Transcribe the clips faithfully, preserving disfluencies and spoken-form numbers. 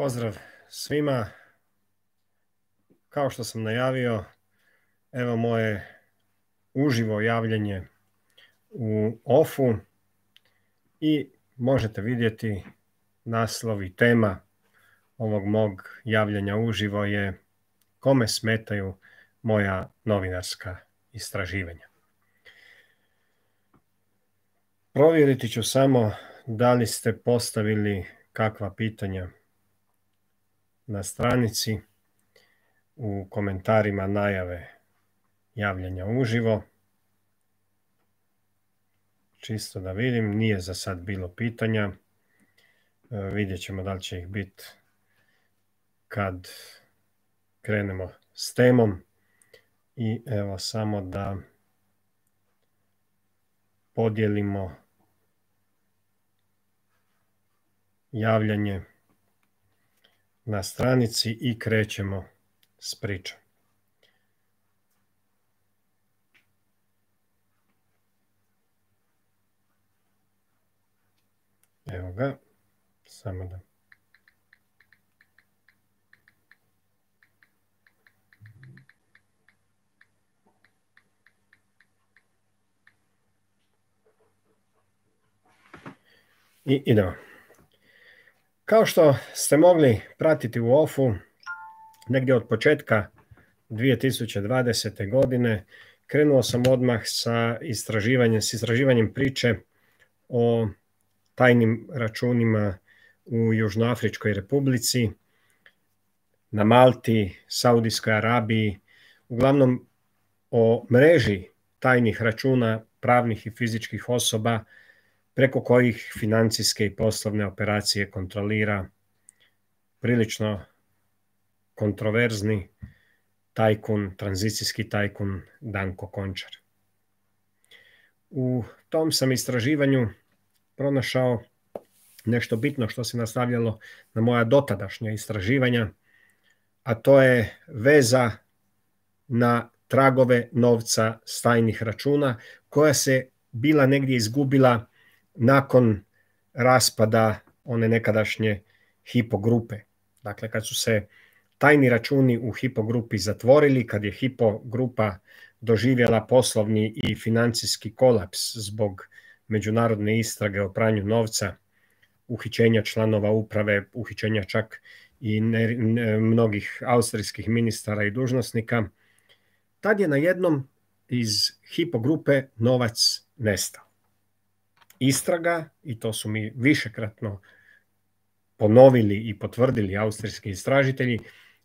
Pozdrav svima. Kao što sam najavio, evo moje uživo javljanje u ofu i možete vidjeti naslov i tema ovog mog javljanja uživo je kome smetaju moja novinarska istraživanja. Provjeriti ću samo da li ste postavili kakva pitanja na stranici u komentarima najave javljanja uživo. Čisto da vidim, nije za sad bilo pitanja. Vidjet ćemo da li će ih biti kad krenemo s temom. I evo samo da podijelimo javljanje na stranici i krećemo s pričom. Evo ga, samo da. I idemo. Kao što ste mogli pratiti u ofu, negdje od početka dvije tisuće dvadesete. godine krenuo sam odmah sa istraživanjem, s istraživanjem priče o tajnim računima u Južnoafričkoj Republici, na Malti, Saudijskoj Arabiji, uglavnom o mreži tajnih računa pravnih i fizičkih osoba preko kojih financijske i poslovne operacije kontrolira prilično kontroverzni tajkun, tranzicijski tajkun Danko Končar. U tom sam istraživanju pronašao nešto bitno što se nastavljalo na moja dotadašnja istraživanja, a to je veza na tragove novca s tajnih računa koja se bila negdje izgubila nakon raspada one nekadašnje Hypo grupe. Dakle, kad su se tajni računi u Hypo grupi zatvorili, kad je Hypo grupa doživjela poslovni i financijski kolaps zbog međunarodne istrage o pranju novca, uhićenja članova uprave, uhićenja čak i ne, ne, mnogih austrijskih ministara i dužnosnika, tad je najednom iz Hypo grupe novac nestao. Istraga, i to su mi višekratno ponovili i potvrdili austrijski istražitelji,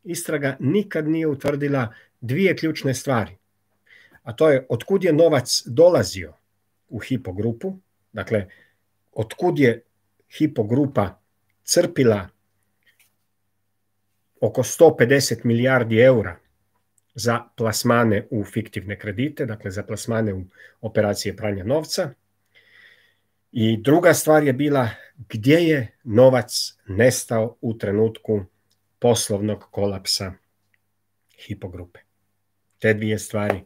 istraga nikad nije utvrdila dvije ključne stvari. A to je otkud je novac dolazio u Hypo grupu, dakle, otkud je Hypo grupa crpila oko sto pedeset milijardi eura za plasmane u fiktivne kredite, dakle za plasmane u operacije pranja novca. I druga stvar je bila gdje je novac nestao u trenutku poslovnog kolapsa Hypo grupe. Te dvije stvari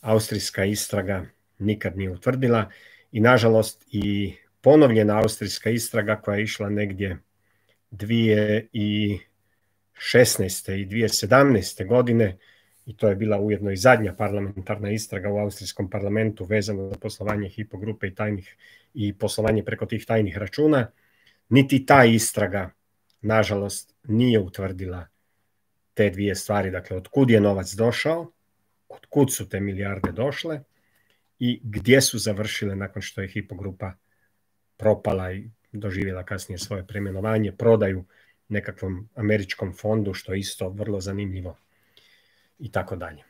austrijska istraga nikad nije utvrdila i nažalost i ponovljena austrijska istraga koja je išla negdje dvije tisuće šesnaeste. i dvije tisuće sedamnaeste. godine, i to je bila ujedno i zadnja parlamentarna istraga u austrijskom parlamentu vezano za poslovanje Hypo grupe i tajnih i poslovanje preko tih tajnih računa, niti ta istraga, nažalost, nije utvrdila te dvije stvari. Dakle, otkud je novac došao, otkud su te milijarde došle i gdje su završile nakon što je Hypo grupa propala i doživjela kasnije svoje preimenovanje, prodaju nekakvom američkom fondu, što je isto vrlo zanimljivo i tako dalje.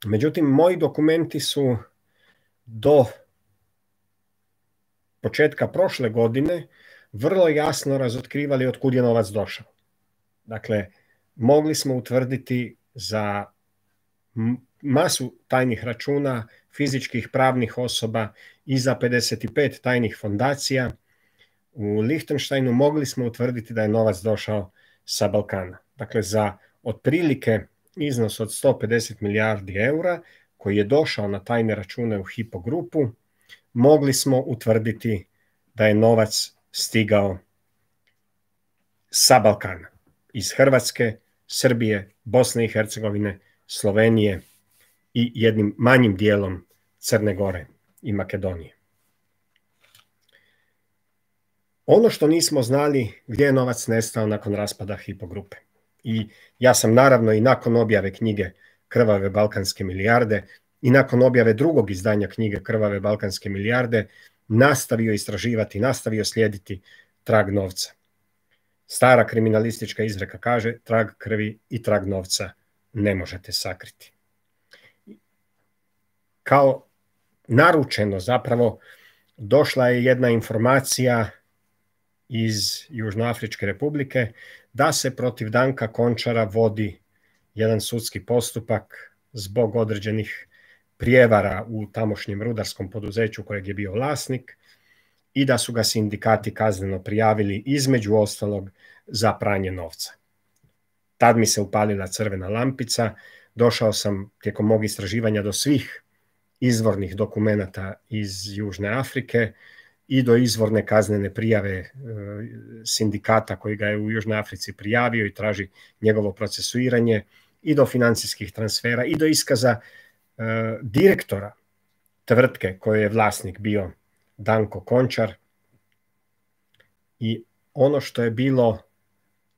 Međutim, moji dokumenti su do početka prošle godine vrlo jasno razotkrivali otkud je novac došao. Dakle, mogli smo utvrditi za masu tajnih računa fizičkih pravnih osoba i za pedeset pet tajnih fondacija u Lihtenštajnu mogli smo utvrditi da je novac došao sa Balkana. Dakle, za otprilike iznos od sto pedeset milijardi eura koji je došao na tajne račune u Hypo grupu, mogli smo utvrditi da je novac stigao sa Balkana, iz Hrvatske, Srbije, Bosne i Hercegovine, Slovenije i jednim manjim dijelom Crne Gore i Makedonije. Ono što nismo znali, gdje je novac nestao nakon raspada Hypo grupe. I ja sam naravno i nakon objave knjige Krvave balkanske milijarde i nakon objave drugog izdanja knjige Krvave balkanske milijarde nastavio istraživati, nastavio slijediti trag novca. Stara kriminalistička izreka kaže: trag krvi i trag novca ne možete sakriti. Kao naručeno zapravo došla je jedna informacija iz Južnoafričke republike da se protiv Danka Končara vodi jedan sudski postupak zbog određenih prijevara u tamošnjem rudarskom poduzeću kojeg je bio vlasnik i da su ga sindikati kazneno prijavili, između ostalog, za pranje novca. Tad mi se upalila crvena lampica, došao sam tijekom mog istraživanja do svih izvornih dokumenata iz Južne Afrike i do izvorne kaznene prijave e, sindikata koji ga je u Južnoj Africi prijavio i traži njegovo procesuiranje, i do financijskih transfera i do iskaza e, direktora tvrtke koje je vlasnik bio Danko Končar. I ono što je bilo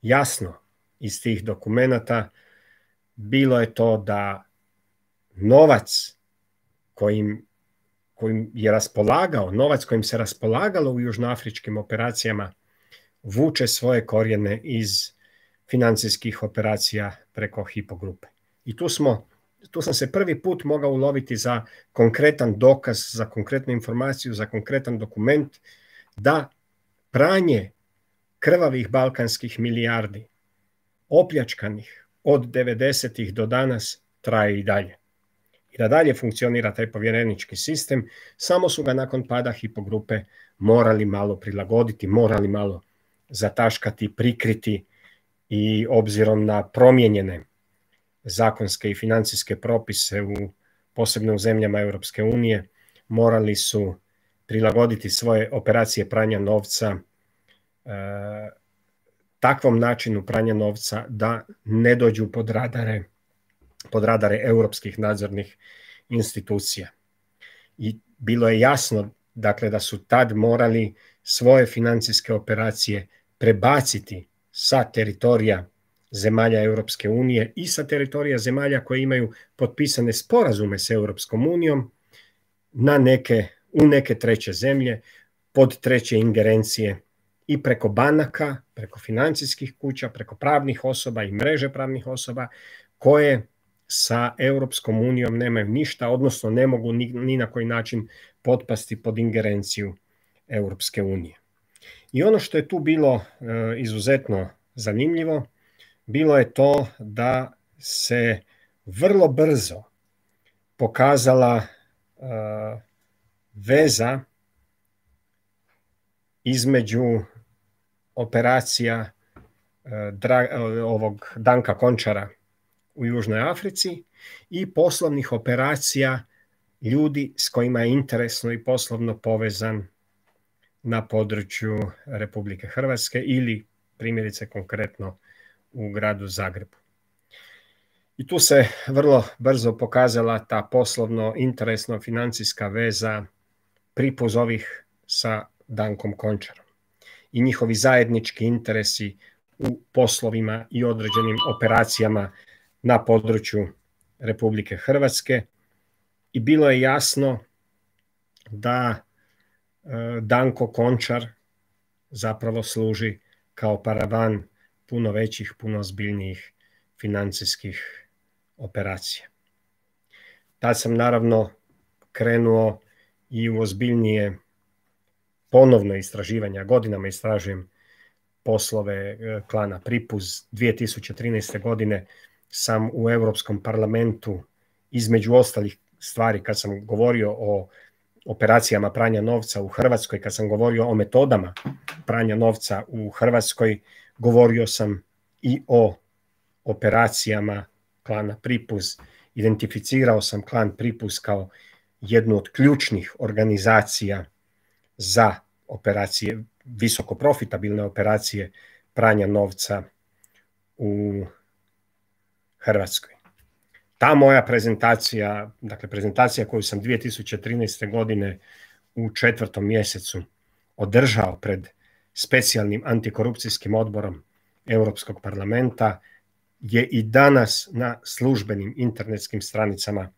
jasno iz tih dokumenata bilo je to da novac kojim, kojim je raspolagao, novac kojim se raspolagalo u južnoafričkim operacijama vuče svoje korijene iz financijskih operacija preko Hypo grupe. I tu smo Tu sam se prvi put mogao uloviti za konkretan dokaz, za konkretnu informaciju, za konkretan dokument da pranje krvavih balkanskih milijardi, opljačkanih od devedesetih do danas, traje i dalje. I da dalje funkcionira taj povjerenički sistem, samo su ga nakon pada Hypo grupe morali malo prilagoditi, morali malo zataškati, prikriti i obzirom na promijenjene zakonske i financijske propise, u, posebno u zemljama Europske unije, morali su prilagoditi svoje operacije pranja novca e, takvom načinu pranja novca da ne dođu pod radare, pod radare europskih nadzornih institucija. I bilo je jasno, dakle, da su tad morali svoje financijske operacije prebaciti sa teritorija zemalja Europske unije i sa teritorija zemalja koje imaju potpisane sporazume s Europskom unijom na neke, u neke treće zemlje, pod treće ingerencije i preko banaka, preko financijskih kuća, preko pravnih osoba i mreže pravnih osoba koje sa Europskom unijom nemaju ništa, odnosno ne mogu ni, ni na koji način potpasti pod ingerenciju Europske unije. I ono što je tu bilo e, izuzetno zanimljivo, bilo je to da se vrlo brzo pokazala uh, veza između operacija uh, dra, uh, ovog Danka Končara u Južnoj Africi i poslovnih operacija ljudi s kojima je interesno i poslovno povezan na području Republike Hrvatske ili primjerice konkretno u gradu Zagrebu. I tu se vrlo brzo pokazala ta poslovno, interesno, financijska veza Pripuzovih sa Dankom Končarom i njihovi zajednički interesi u poslovima i određenim operacijama na području Republike Hrvatske. I bilo je jasno da e, Danko Končar zapravo služi kao paravan puno većih, puno ozbiljnijih financijskih operacija. Tad sam naravno krenuo i u ozbiljnije ponovno istraživanja, godinama istražujem poslove klana Pripuz. dvije tisuće trinaeste. godine sam u Europskom parlamentu, između ostalih stvari, kad sam govorio o operacijama pranja novca u Hrvatskoj, kad sam govorio o metodama pranja novca u Hrvatskoj, govorio sam i o operacijama klana Pripuz. Identificirao sam klan Pripuz kao jednu od ključnih organizacija za operacije, visoko profitabilne operacije pranja novca u Hrvatskoj. Ta moja prezentacija, dakle prezentacija koju sam dvije tisuće trinaeste. godine u četvrtom mjesecu održao pred specijalnim antikorupcijskim odborom Europskog parlamenta, je i danas na službenim internetskim stranicama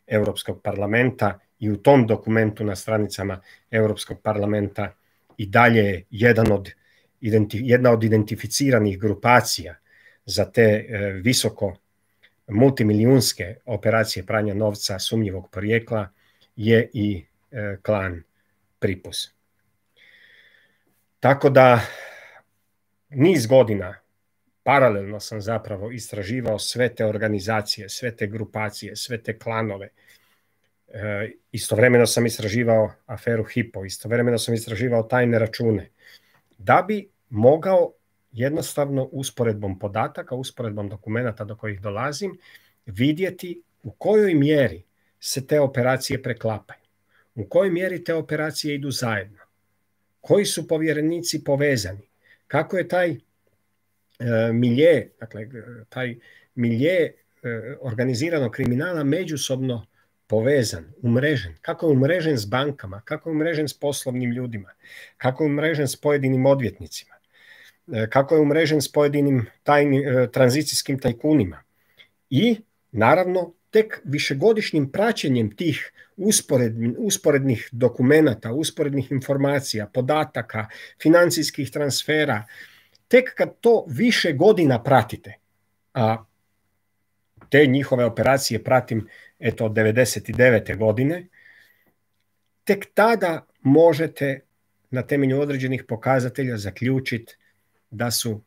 Europskog parlamenta i u tom dokumentu na stranicama Europskog parlamenta i dalje je jedan od, jedna od identificiranih grupacija za te e, visoko multimilijunske operacije pranja novca sumnjivog porijekla je i e, klan Pripuz. Tako da niz godina paralelno sam zapravo istraživao sve te organizacije, sve te grupacije, sve te klanove. E, istovremeno sam istraživao aferu Hypo, istovremeno sam istraživao tajne račune, da bi mogao jednostavno usporedbom podataka, usporedbom dokumenata do kojih dolazim, vidjeti u kojoj mjeri se te operacije preklapaju, u kojoj mjeri te operacije idu zajedno, koji su povjerenici povezani, kako je taj e, milje, dakle, taj milje e, organiziranog kriminala međusobno povezan, umrežen, kako je umrežen s bankama, kako je umrežen s poslovnim ljudima, kako je umrežen s pojedinim odvjetnicima, kako je umrežen s pojedinim tajnim, tranzicijskim tajkunima. I naravno tek višegodišnjim praćenjem tih usporednih, usporednih dokumenata, usporednih informacija, podataka, financijskih transfera, tek kad to više godina pratite, a te njihove operacije pratim eto od devedeset devete. godine, tek tada možete na temelju određenih pokazatelja zaključiti da su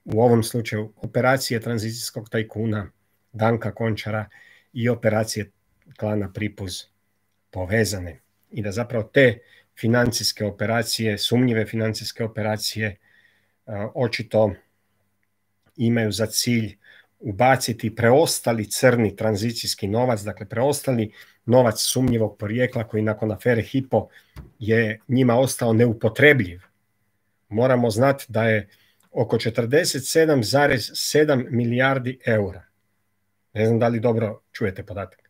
u ovom slučaju operacije tranzicijskog tajkuna Danka Končara i operacije klana Pripuz povezane i da zapravo te financijske operacije, sumnjive financijske operacije očito imaju za cilj ubaciti preostali crni tranzicijski novac, dakle preostali novac sumnjivog porijekla koji nakon afere Hypo je njima ostao neupotrebljiv. Moramo znati da je oko četrdeset sedam zarez sedam milijardi eura. Ne znam da li dobro čujete podatak.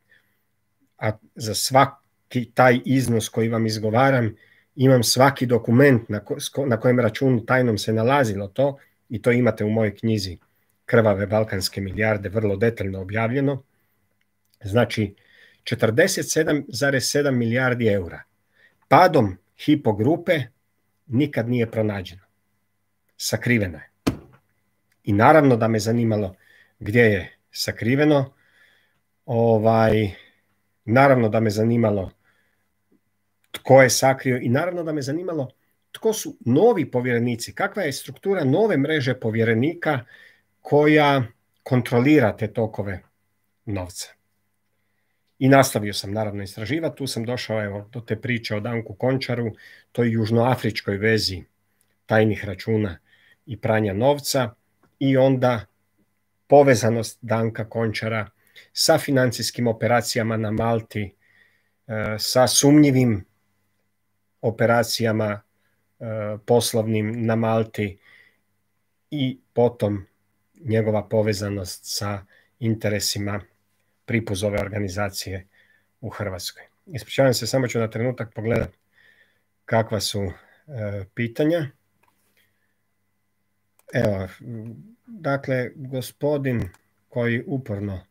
A za svaki taj iznos koji vam izgovaram imam svaki dokument na, ko, na kojem računu tajnom se nalazilo to i to imate u mojoj knjizi Krvave balkanske milijarde, vrlo detaljno objavljeno. Znači četrdeset sedam zarez sedam milijardi eura. Padom Hypo grupe nikad nije pronađeno. Sakriveno je. I naravno da me zanimalo gdje je sakriveno. Ovaj, naravno da me zanimalo tko je sakrio i naravno da me zanimalo tko su novi povjerenici, kakva je struktura nove mreže povjerenika koja kontrolira te tokove novca. I nastavio sam naravno istraživati, tu sam došao evo, do te priče o Danku Končaru, toj južnoafričkoj vezi tajnih računa i pranja novca i onda povezanost Danka Končara sa financijskim operacijama na Malti, sa sumnjivim operacijama poslovnim na Malti i potom njegova povezanost sa interesima Pripuzove organizacije u Hrvatskoj. Ispričavam se, samo ću na trenutak pogledati kakva su e, pitanja. Evo, dakle, gospodin koji uporno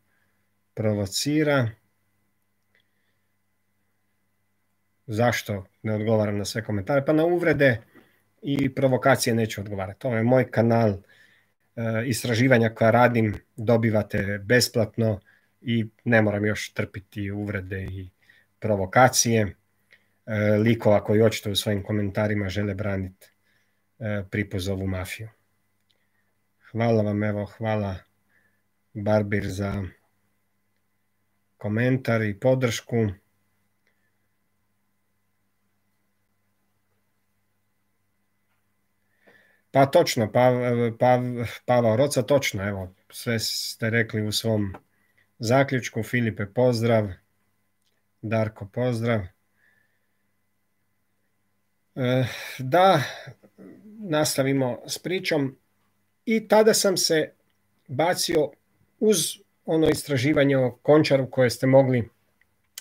provocira, zašto ne odgovaram na sve komentare? Pa na uvrede i provokacije neću odgovarati. Ovo je moj kanal e, istraživanja koja radim, dobivate besplatno i ne moram još trpiti uvrede i provokacije e, likova koji očito u svojim komentarima žele braniti e, Pripuzovu mafiju. Hvala vam, evo, hvala Barbir za komentar i podršku. Pa točno, pa, pa, Pavao Roca, točno, evo, sve ste rekli u svom zaključku. Filipe, pozdrav. Darko, pozdrav. E, da nastavimo s pričom. i tada sam se bacio uz ono istraživanje o Končaru koje ste mogli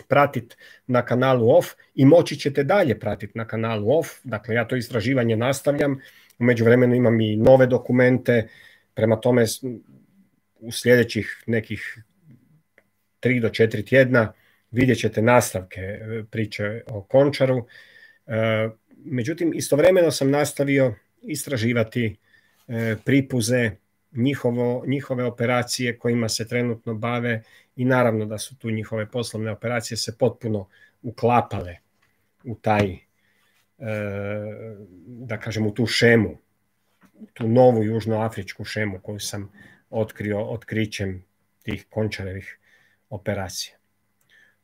pratiti na kanalu O F i moći ćete dalje pratiti na kanalu O F. Dakle, ja to istraživanje nastavljam. U međuvremenu imam i nove dokumente, prema tome u sljedećih nekih tri do četiri tjedna vidjet ćete nastavke priče o Končaru. Međutim, istovremeno sam nastavio istraživati Pripuze, njihovo, njihove operacije kojima se trenutno bave i naravno da su tu njihove poslovne operacije se potpuno uklapale u taj, da kažem, u tu šemu, tu novu južnoafričku šemu koju sam otkrio otkrićem tih Končarevih operacija.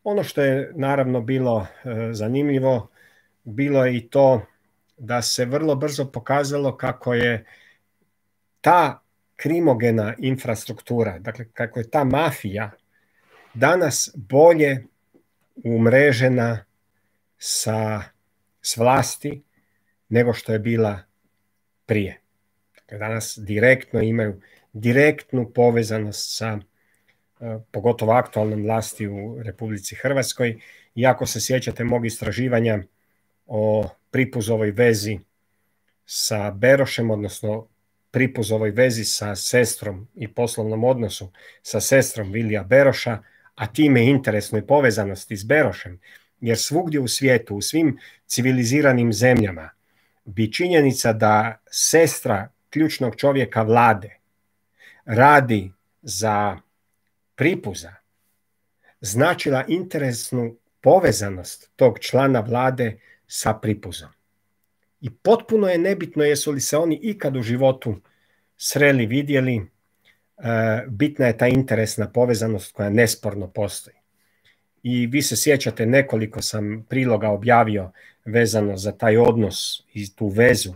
Ono što je naravno bilo zanimljivo, bilo je i to da se vrlo brzo pokazalo kako je ta krimogena infrastruktura, dakle kako je ta mafija danas bolje umrežena sa, s vlasti nego što je bila prije. Dakle, danas direktno imaju direktnu povezanost sa pogotovo aktualnom vlasti u Republici Hrvatskoj. I ako se sjećate mog istraživanja o Pripuzovoj vezi sa Berošem, odnosno Pripuzovoj vezi sa sestrom i poslovnom odnosu sa sestrom Vilija Beroša, a time interesnoj povezanosti s Berošem, jer svugdje u svijetu, u svim civiliziranim zemljama, bi činjenica da sestra ključnog čovjeka vlade radi za Pripuza značila interesnu povezanost tog člana vlade sa Pripuzom. I potpuno je nebitno jesu li se oni ikad u životu sreli, vidjeli, bitna je ta interesna povezanost koja nesporno postoji. I vi se sjećate, nekoliko sam priloga objavio vezano za taj odnos i tu vezu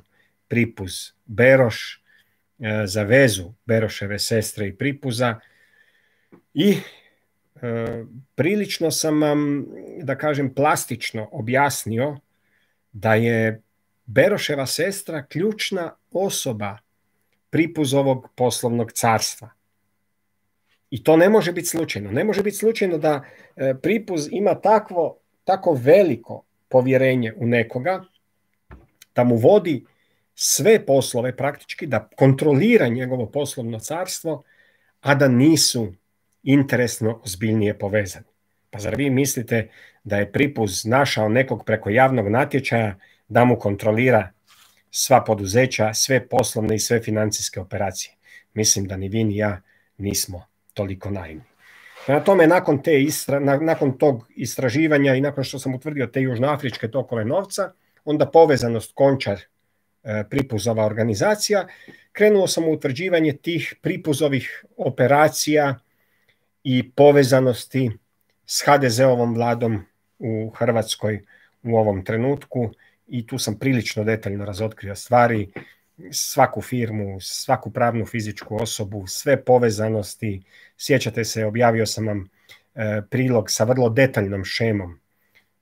Pripuz-Beroš, za vezu Beroševe sestre i Pripuza. I e, prilično sam vam, da kažem, plastično objasnio da je Beroševa sestra ključna osoba Pripuzovog poslovnog carstva. I to ne može biti slučajno. Ne može biti slučajno da e, Pripuz ima takvo, tako veliko povjerenje u nekoga, da mu vodi sve poslove praktički, da kontrolira njegovo poslovno carstvo, a da nisu interesno ozbiljnije povezani. Pa zar vi mislite da je Pripuz našao nekog preko javnog natječaja da mu kontrolira sva poduzeća, sve poslovne i sve financijske operacije? Mislim da ni vi ni ja nismo toliko naivni. Prema tome, nakon, te istra, nakon tog istraživanja i nakon što sam utvrdio te južnoafričke tokove novca, onda povezanost Končar Pripuzova organizacija, krenuo sam u utvrđivanje tih Pripuzovih operacija i povezanosti s ha de ze-ovom vladom u Hrvatskoj u ovom trenutku i tu sam prilično detaljno razotkrio stvari, svaku firmu, svaku pravnu fizičku osobu, sve povezanosti. Sjećate se, objavio sam vam e, prilog sa vrlo detaljnom šemom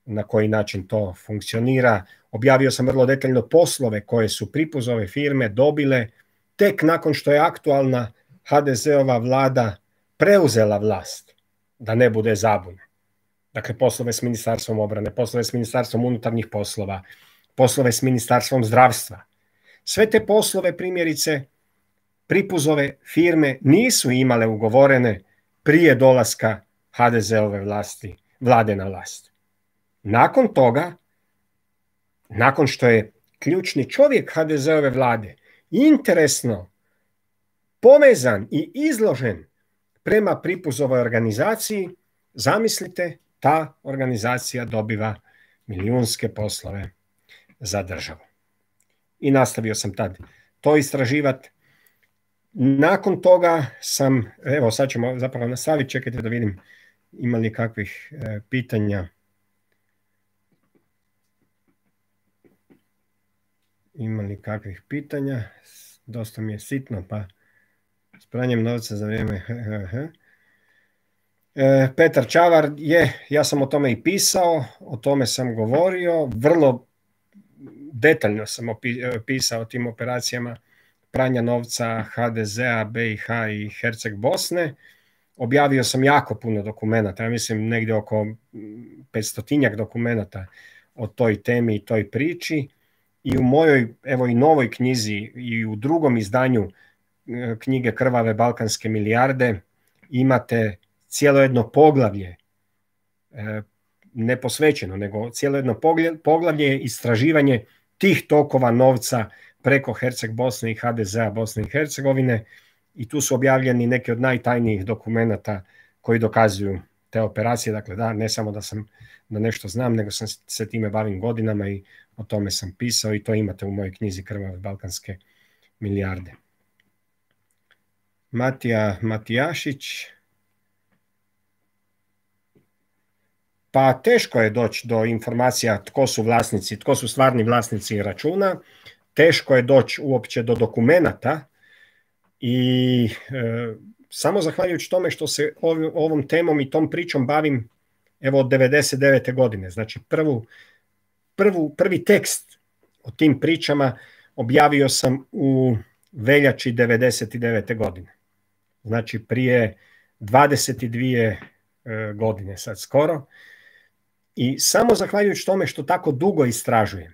na koji način to funkcionira. Objavio sam vrlo detaljno poslove koje su Pripuzove firme dobile tek nakon što je aktualna ha de ze-ova vlada preuzela vlast, da ne bude zabune. Dakle, poslove s Ministarstvom obrane, poslove s Ministarstvom unutarnjih poslova, poslove s Ministarstvom zdravstva. Sve te poslove, primjerice, Pripuzove firme nisu imale ugovorene prije dolaska ha de ze-ove vlasti, vlade na vlast. Nakon toga, nakon što je ključni čovjek ha de ze-ove vlade interesno povezan i izložen prema Pripuzovoj organizaciji, zamislite, ta organizacija dobiva milijunske poslove za državu. I nastavio sam tad to istraživati. Nakon toga sam, evo sad ćemo zapravo nastaviti, čekajte da vidim ima li kakvih e, pitanja. Ima li kakvih pitanja? Dosta mi je sitno, pa s pranjem novca za vrijeme. E, Petar Čavar, je, ja sam o tome i pisao, o tome sam govorio, vrlo detaljno sam opisao o tim operacijama pranja novca ha de zea, be i ha i Herceg Bosne. Objavio sam jako puno dokumenata, ja mislim negdje oko petstotinjak dokumenata o toj temi i toj priči. I u mojoj, evo i novoj knjizi i u drugom izdanju knjige Krvave balkanske milijarde imate cijelo jedno poglavlje, ne posvećeno, nego cijelo jedno poglavlje istraživanje tih tokova novca preko Herceg Bosne i ha de zea Bosne i Hercegovine, i tu su objavljeni neki od najtajnijih dokumenata koji dokazuju te operacije. Dakle, da, ne samo da sam da nešto znam, nego sam se time bavim godinama i o tome sam pisao, i to imate u mojoj knjizi Krvave balkanske milijarde. Matija Matijašić. Pa teško je doći do informacija tko su vlasnici, tko su stvarni vlasnici računa. Teško je doći uopće do dokumenata i e, samo zahvaljujući tome što se ovim, ovom temom i tom pričom bavim evo od devedeset devete godine. Znači prvu, prvu, prvi tekst o tim pričama objavio sam u veljači devedeset devete godine. Znači prije dvadeset dvije e, godine sad skoro. I samo zahvaljujući tome što tako dugo istražujem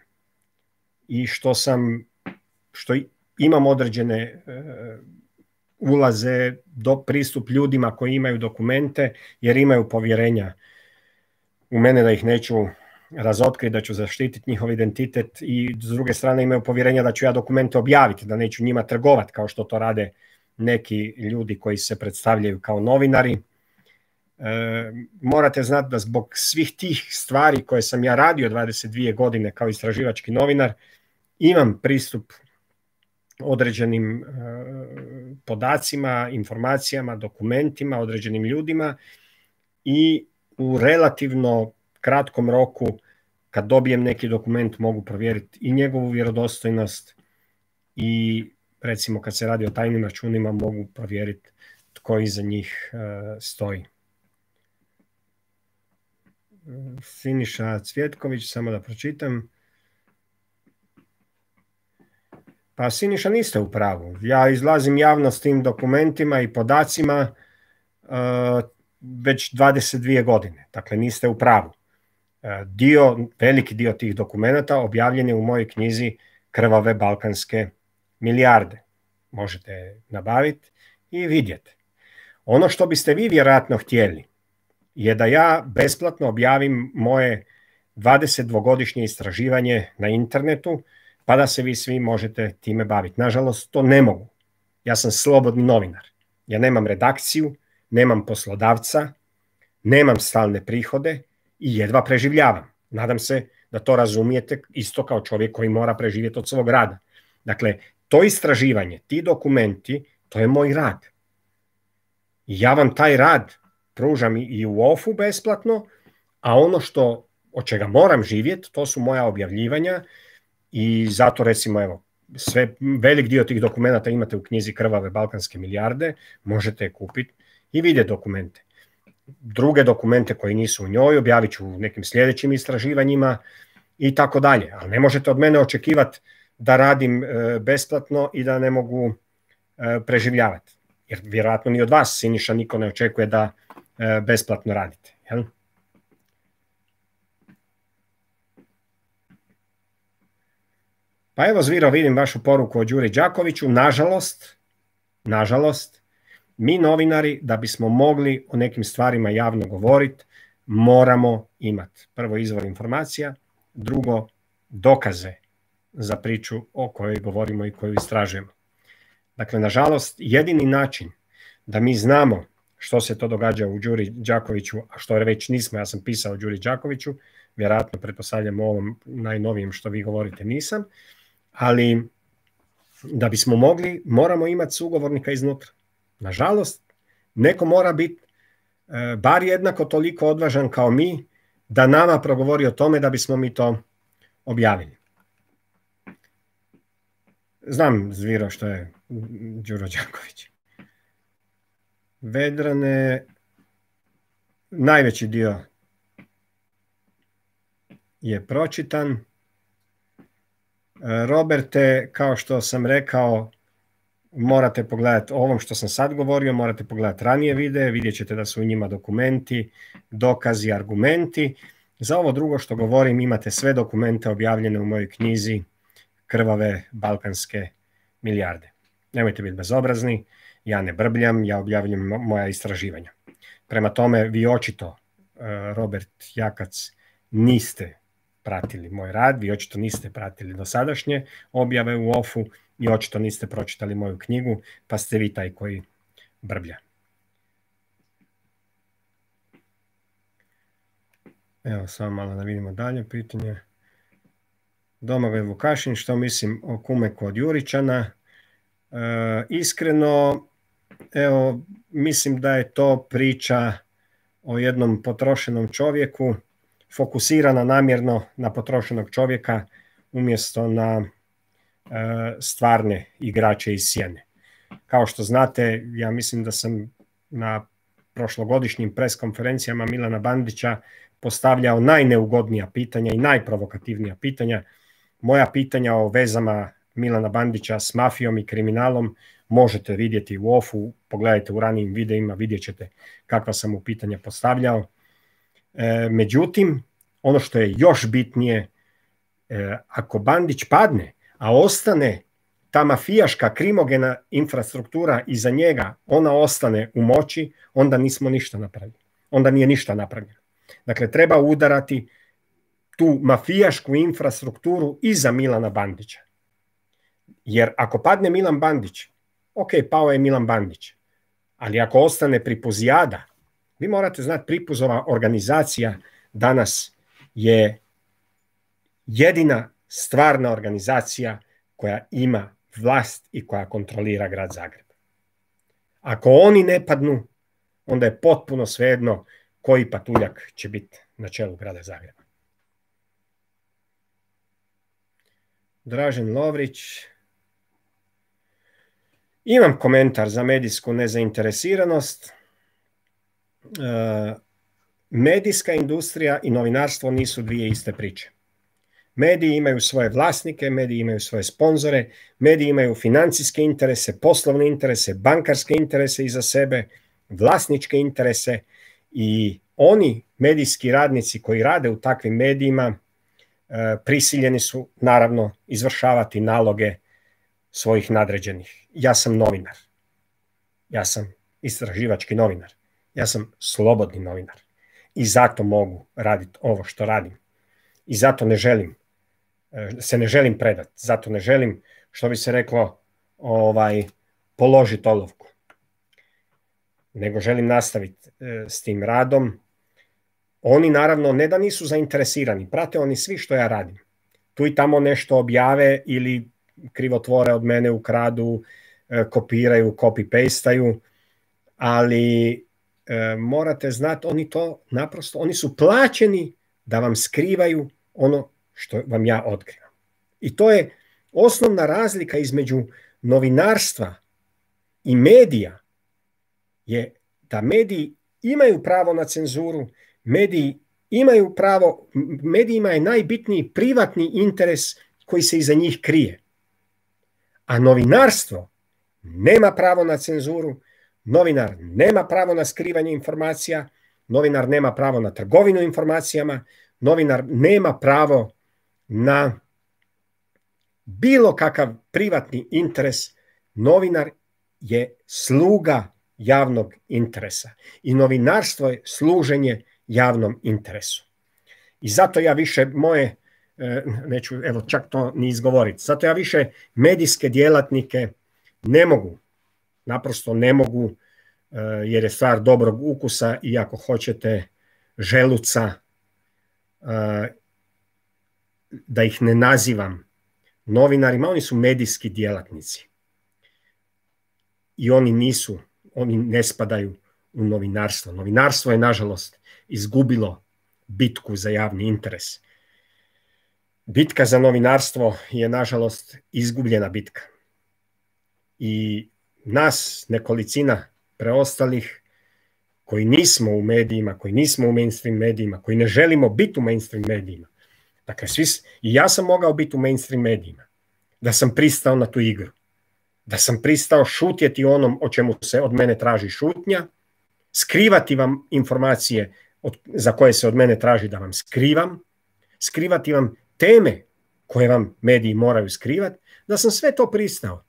i što sam, što imam određene e, ulaze do pristup ljudima koji imaju dokumente, jer imaju povjerenja u mene da ih neću razotkriti, da ću zaštititi njihov identitet, i s druge strane imaju povjerenja da ću ja dokumente objaviti, da neću njima trgovati kao što to rade neki ljudi koji se predstavljaju kao novinari. E, morate znati da zbog svih tih stvari koje sam ja radio dvadeset dvije godine kao istraživački novinar, imam pristup određenim e, podacima, informacijama, dokumentima, određenim ljudima, i u relativno kratkom roku kad dobijem neki dokument mogu provjeriti i njegovu vjerodostojnost, i recimo kad se radi o tajnim računima mogu provjeriti tko iza njih e, stoji. Siniša Cvjetković, samo da pročitam. Pa Siniša, niste u pravu. Ja izlazim javno s tim dokumentima i podacima uh, već dvadeset dvije godine. Dakle, niste u pravu. Uh, dio, veliki dio tih dokumenata objavljen je u mojoj knjizi Krvave balkanske milijarde. Možete nabaviti i vidjeti. Ono što biste vi vjerojatno htjeli je da ja besplatno objavim moje dvadesetdvogodišnje istraživanje na internetu, pa da se vi svi možete time baviti. Nažalost, to ne mogu. Ja sam slobodni novinar. Ja nemam redakciju, nemam poslodavca, nemam stalne prihode i jedva preživljavam. Nadam se da to razumijete isto kao čovjek koji mora preživjeti od svog rada. Dakle, to istraživanje, ti dokumenti, to je moj rad. I ja vam taj rad pružam i u ofu besplatno, a ono što, od čega moram živjeti, to su moja objavljivanja, i zato recimo evo, sve, velik dio tih dokumenta imate u knjizi Krvave balkanske milijarde, možete kupiti i vidjeti dokumente. Druge dokumente koji nisu u njoj objavit ću u nekim sljedećim istraživanjima i tako dalje, ali ne možete od mene očekivati da radim e, besplatno i da ne mogu e, preživljavati. Jer vjerojatno ni od vas, Siniša, niko ne očekuje da e, besplatno radite. Jel? Pa evo, Zviro, vidim vašu poruku o Đuri Đakoviću. Nažalost, nažalost, mi novinari, da bismo mogli o nekim stvarima javno govoriti, moramo imati prvo izvor informacija, drugo dokaze za priču o kojoj govorimo i koju istražujemo. Dakle, nažalost, jedini način da mi znamo što se to događa u Đuri Đakoviću, a što već nismo, ja sam pisao o Đuri Đakoviću, vjerojatno pretpostavljam o ovom najnovijem što vi govorite nisam, ali da bismo mogli, moramo imati sugovornika iznutra. Nažalost, neko mora biti e, bar jednako toliko odvažan kao mi da nama progovori o tome da bismo mi to objavili. Znam, Zviro, što je Đuro Đaković. Vedrane, najveći dio je pročitan. Roberte, kao što sam rekao, morate pogledati ovom što sam sad govorio, morate pogledati ranije videe, vidjet ćete da su u njima dokumenti, dokazi, argumenti. Za ovo drugo što govorim imate sve dokumente objavljene u mojoj knjizi Krvave balkanske milijarde. Nemojte biti bezobrazni, ja ne brbljam, ja objavljam moja istraživanja. Prema tome, vi očito, Robert Jakac, niste pratili moj rad, vi očito niste pratili dosadašnje objave u ofu i očito niste pročitali moju knjigu, pa ste vi taj koji brblja. Evo, samo malo da vidimo dalje pitanje. Domagoj Vukašin, što mislim o Kumeku od Juričana? E, iskreno, evo, mislim da je to priča o jednom potrošenom čovjeku, fokusirana namjerno na potrošenog čovjeka umjesto na e, stvarne igrače iz sjene. Kao što znate, ja mislim da sam na prošlogodišnjim pres konferencijama Milana Bandića postavljao najneugodnija pitanja i najprovokativnija pitanja. Moja pitanja o vezama Milana Bandića s mafijom i kriminalom možete vidjeti u ofu, pogledajte u ranijim videima, vidjet ćete kakva sam mu pitanja postavljao. E, međutim, ono što je još bitnije, e, ako Bandić padne, a ostane ta mafijaška krimogena infrastruktura iza njega, ona ostane u moći, onda nismo ništa napravili. Onda nije ništa napravljeno. Dakle, treba udarati tu mafijašku infrastrukturu iza Milana Bandića. Jer ako padne Milan Bandić, ok, pao je Milan Bandić, ali ako ostane Pripuzijada, vi morate znati, Pripuzova organizacija danas je jedina stvarna organizacija koja ima vlast i koja kontrolira grad Zagreb. Ako oni ne padnu, onda je potpuno svejedno koji patuljak će biti na čelu grada Zagreba. Dražen Lovrić. Imam komentar za medijsku nezainteresiranost. E, medijska industrija i novinarstvo nisu dvije iste priče. Mediji imaju svoje vlasnike, mediji imaju svoje sponzore, mediji imaju financijske interese, poslovne interese, bankarske interese iza sebe, vlasničke interese i oni medijski radnici koji rade u takvim medijima e, prisiljeni su naravno izvršavati naloge svojih nadređenih. Ja sam novinar. Ja sam istraživački novinar. Ja sam slobodni novinar. I zato mogu raditi ovo što radim. I zato ne želim, se ne želim predati. Zato ne želim, što bi se reklo, ovaj, položiti olovku. Nego želim nastaviti s tim radom. Oni naravno ne da nisu zainteresirani, prate oni svi što ja radim. Tu i tamo nešto objave ili krivotvore od mene, ukradu, kopiraju, copy-pastaju, ali e, morate znati, oni to naprosto, oni su plaćeni da vam skrivaju ono što vam ja otkrivam. I to je osnovna razlika između novinarstva i medija, je da mediji imaju pravo na cenzuru, mediji imaju pravo, medijima je najbitniji privatni interes koji se iza njih krije. A novinarstvo nema pravo na cenzuru, novinar nema pravo na skrivanje informacija, novinar nema pravo na trgovinu informacijama, novinar nema pravo na bilo kakav privatni interes. Novinar je sluga javnog interesa i novinarstvo je služenje javnom interesu. I zato ja više moje, neću evo čak to ni izgovoriti, zato ja više medijske djelatnike ne mogu, naprosto ne mogu, jer je stvar dobrog ukusa i ako hoćete želuca, da ih ne nazivam novinarima, oni su medijski djelatnici. I oni nisu, oni ne spadaju u novinarstvo. Novinarstvo je, nažalost, izgubilo bitku za javni interes. Bitka za novinarstvo je, nažalost, izgubljena bitka. I nas, nekolicina preostalih, koji nismo u medijima, koji nismo u mainstream medijima, koji ne želimo biti u mainstream medijima. Dakle, svi, i ja sam mogao biti u mainstream medijima, da sam pristao na tu igru. da sam pristao šutjeti onom o čemu se od mene traži šutnja, skrivati vam informacije od, za koje se od mene traži da vam skrivam, skrivati vam teme koje vam mediji moraju skrivati, da sam sve to pristao.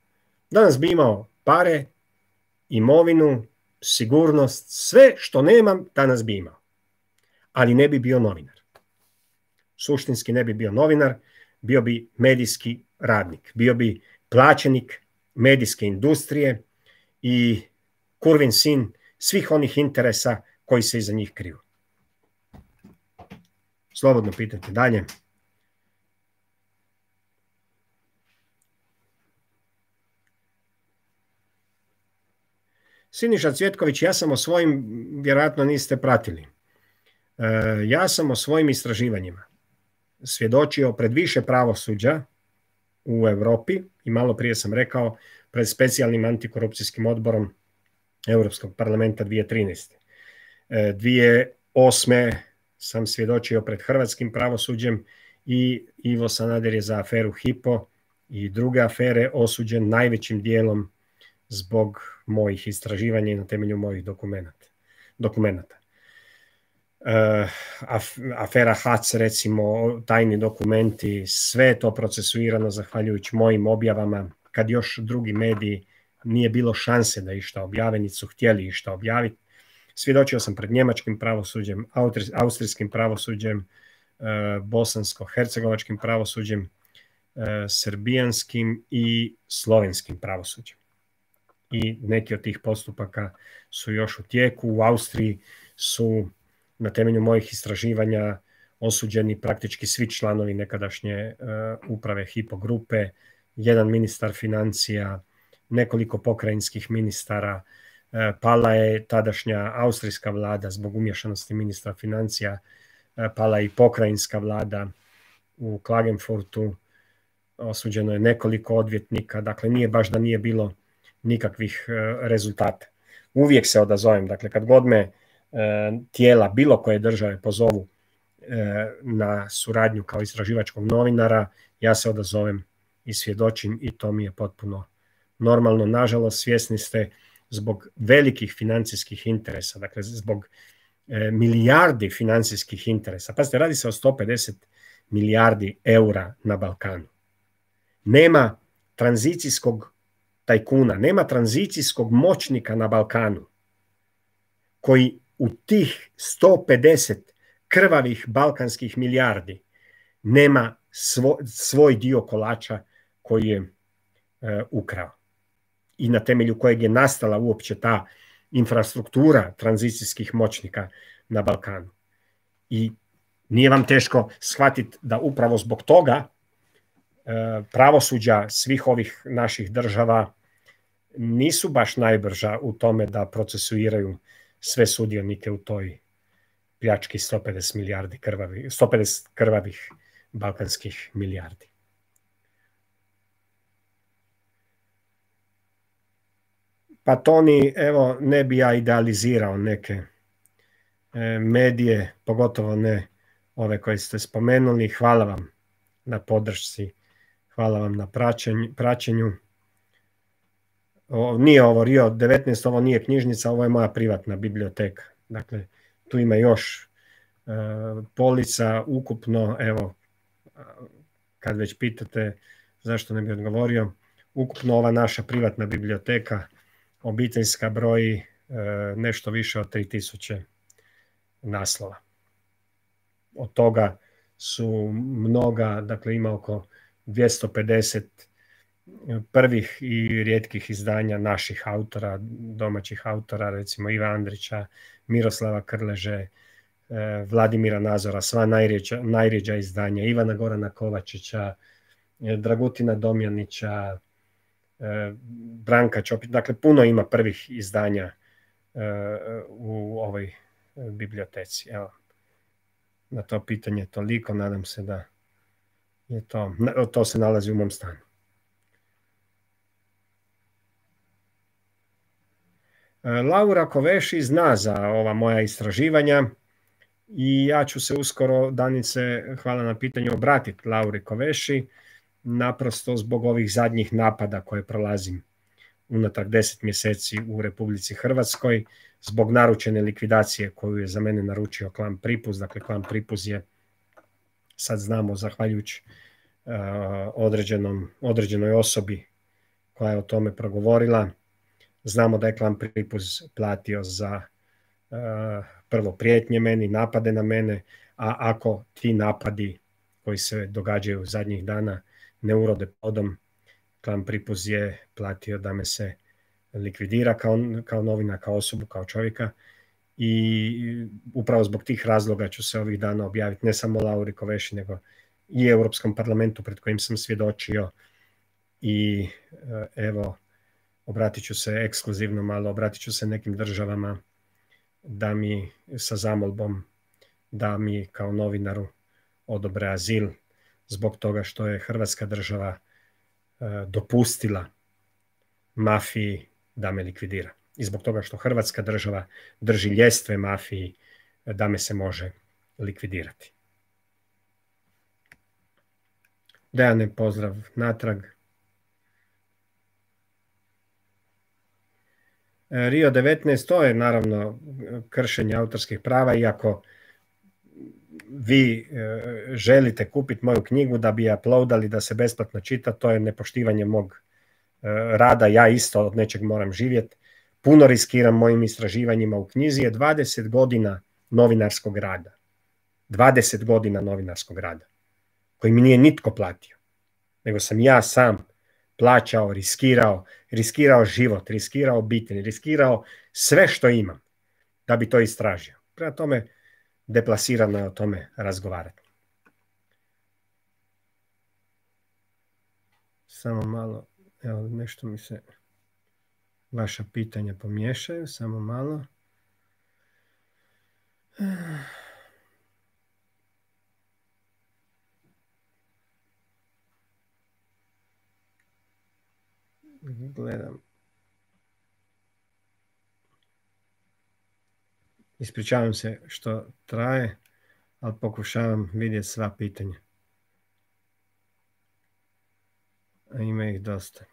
Danas bi imao pare, imovinu, sigurnost, sve što nemam danas bi imao. Ali ne bi bio novinar. Suštinski ne bi bio novinar, bio bi medijski radnik, bio bi plaćenik medijske industrije i kurvin sin svih onih interesa koji se iza njih kriju. Slobodno pitajte dalje. Siniša Cvjetković, ja sam o svojim, vjerojatno niste pratili, ja sam o svojim istraživanjima svjedočio pred više pravosuđa u Europi i malo prije sam rekao pred specijalnim antikorupcijskim odborom Europskog parlamenta dvije tisuće trinaeste. dvije tisuće osme sam svjedočio pred hrvatskim pravosuđem i Ivo Sanader je za aferu Hypo i druge afere osuđen najvećim dijelom zbog mojih istraživanja i na temelju mojih dokumenata. Uh, af, afera H A C, recimo, tajni dokumenti, sve je to procesuirano zahvaljujući mojim objavama, kad još drugi mediji nije bilo šanse da išta objave, niti su htjeli išta objaviti. Svjedočio sam pred njemačkim pravosuđem, austrijskim pravosuđem, uh, bosansko-hercegovačkim pravosuđem, uh, srbijanskim i slovenskim pravosuđem. I neki od tih postupaka su još u tijeku. U Austriji su na temelju mojih istraživanja osuđeni praktički svi članovi nekadašnje uh, uprave Hypo grupe, jedan ministar financija, nekoliko pokrajinskih ministara, uh, pala je tadašnja austrijska vlada zbog umješanosti ministra financija, uh, pala je i pokrajinska vlada u Klagenfurtu, osuđeno je nekoliko odvjetnika, dakle nije baš da nije bilo nikakvih uh, rezultata. Uvijek se odazovem, dakle kad god me tijela bilo koje države pozovu na suradnju kao istraživačkog novinara, ja se odazovem i svjedočim i to mi je potpuno normalno. Nažalost, svjesni ste zbog velikih financijskih interesa, dakle zbog milijardi financijskih interesa. Pazite, radi se o sto pedeset milijardi eura na Balkanu. Nema tranzicijskog tajkuna, nema tranzicijskog moćnika na Balkanu koji u tih sto pedeset krvavih balkanskih milijardi nema svo, svoj dio kolača koji je e, ukrao i na temelju kojeg je nastala uopće ta infrastruktura tranzicijskih moćnika na Balkanu. I nije vam teško shvatiti da upravo zbog toga e, pravosuđa svih ovih naših država nisu baš najbrža u tome da procesuiraju sve sudionike u toj pljački sto pedeset milijardi krvavih, sto pedeset krvavih balkanskih milijardi. Pa Toni, evo, ne bi ja idealizirao neke e, medije, pogotovo ne ove koje ste spomenuli. Hvala vam na podršci, hvala vam na praćenju. praćenju. O, nije ovo Rio devetnaest, ovo nije knjižnica, ovo je moja privatna biblioteka. Dakle, tu ima još e, polica ukupno, evo, kad već pitate zašto ne bi odgovorio, ukupno ova naša privatna biblioteka obiteljska broji e, nešto više od tri tisuće naslova. Od toga su mnoga, dakle ima oko dvjesto pedeset prvih i rijetkih izdanja naših autora, domaćih autora, recimo Iva Andrića, Miroslava Krleže, Vladimira Nazora, sva najrjeđa, najrjeđa izdanja, Ivana Gorana Kovačića, Dragutina Domjanića, Branka Čopić, dakle puno ima prvih izdanja u ovoj biblioteci. Evo, na to pitanje toliko, nadam se da je to, to se nalazi u mom stanu. Laura Koveši zna za ova moja istraživanja i ja ću se uskoro, Danice, hvala na pitanju, obratiti Lauri Koveši, naprosto zbog ovih zadnjih napada koje prolazim unatrag deset mjeseci u Republici Hrvatskoj zbog naručene likvidacije koju je za mene naručio klan Pripuz. Dakle, klan Pripuz je, sad znamo, zahvaljujući uh, određenom, određenoj osobi koja je o tome progovorila, znamo da je klan Pripuz platio za uh, prvo prijetnje meni, napade na mene, a ako ti napadi koji se događaju zadnjih dana ne urode plodom, klan Pripuz je platio da me se likvidira kao, kao novina, kao osobu, kao čovjeka, i upravo zbog tih razloga ću se ovih dana objaviti ne samo Lauri Kovesi, nego i Europskom parlamentu pred kojim sam svjedočio. I evo, obratit ću se ekskluzivno malo, obratit ću se nekim državama da mi sa zamolbom da mi kao novinaru odobre azil zbog toga što je Hrvatska država dopustila mafiji da me likvidira. I zbog toga što Hrvatska država drži ljestve mafiji da me se može likvidirati. Dejane, pozdrav natrag. Rio devetnaest, to je naravno kršenje autorskih prava, iako vi želite kupiti moju knjigu da bi je uploadali da se besplatno čita, to je nepoštivanje mog rada, ja isto od nečeg moram živjeti. Puno riskiram mojim istraživanjima. U knjizi je dvadeset godina novinarskog rada. dvadeset godina novinarskog rada, koji mi nije nitko platio, nego sam ja sam plaćao, riskirao, riskirao život, riskirao obitelj, riskirao sve što imam da bi to istražio. Prema tome, deplasirano je o tome razgovarati. Samo malo, evo, nešto mi se vaša pitanja pomiješaju, samo malo. Gledam. Ispričavam se što traje, ali pokušavam vidjeti sva pitanja. A ima ih dosta.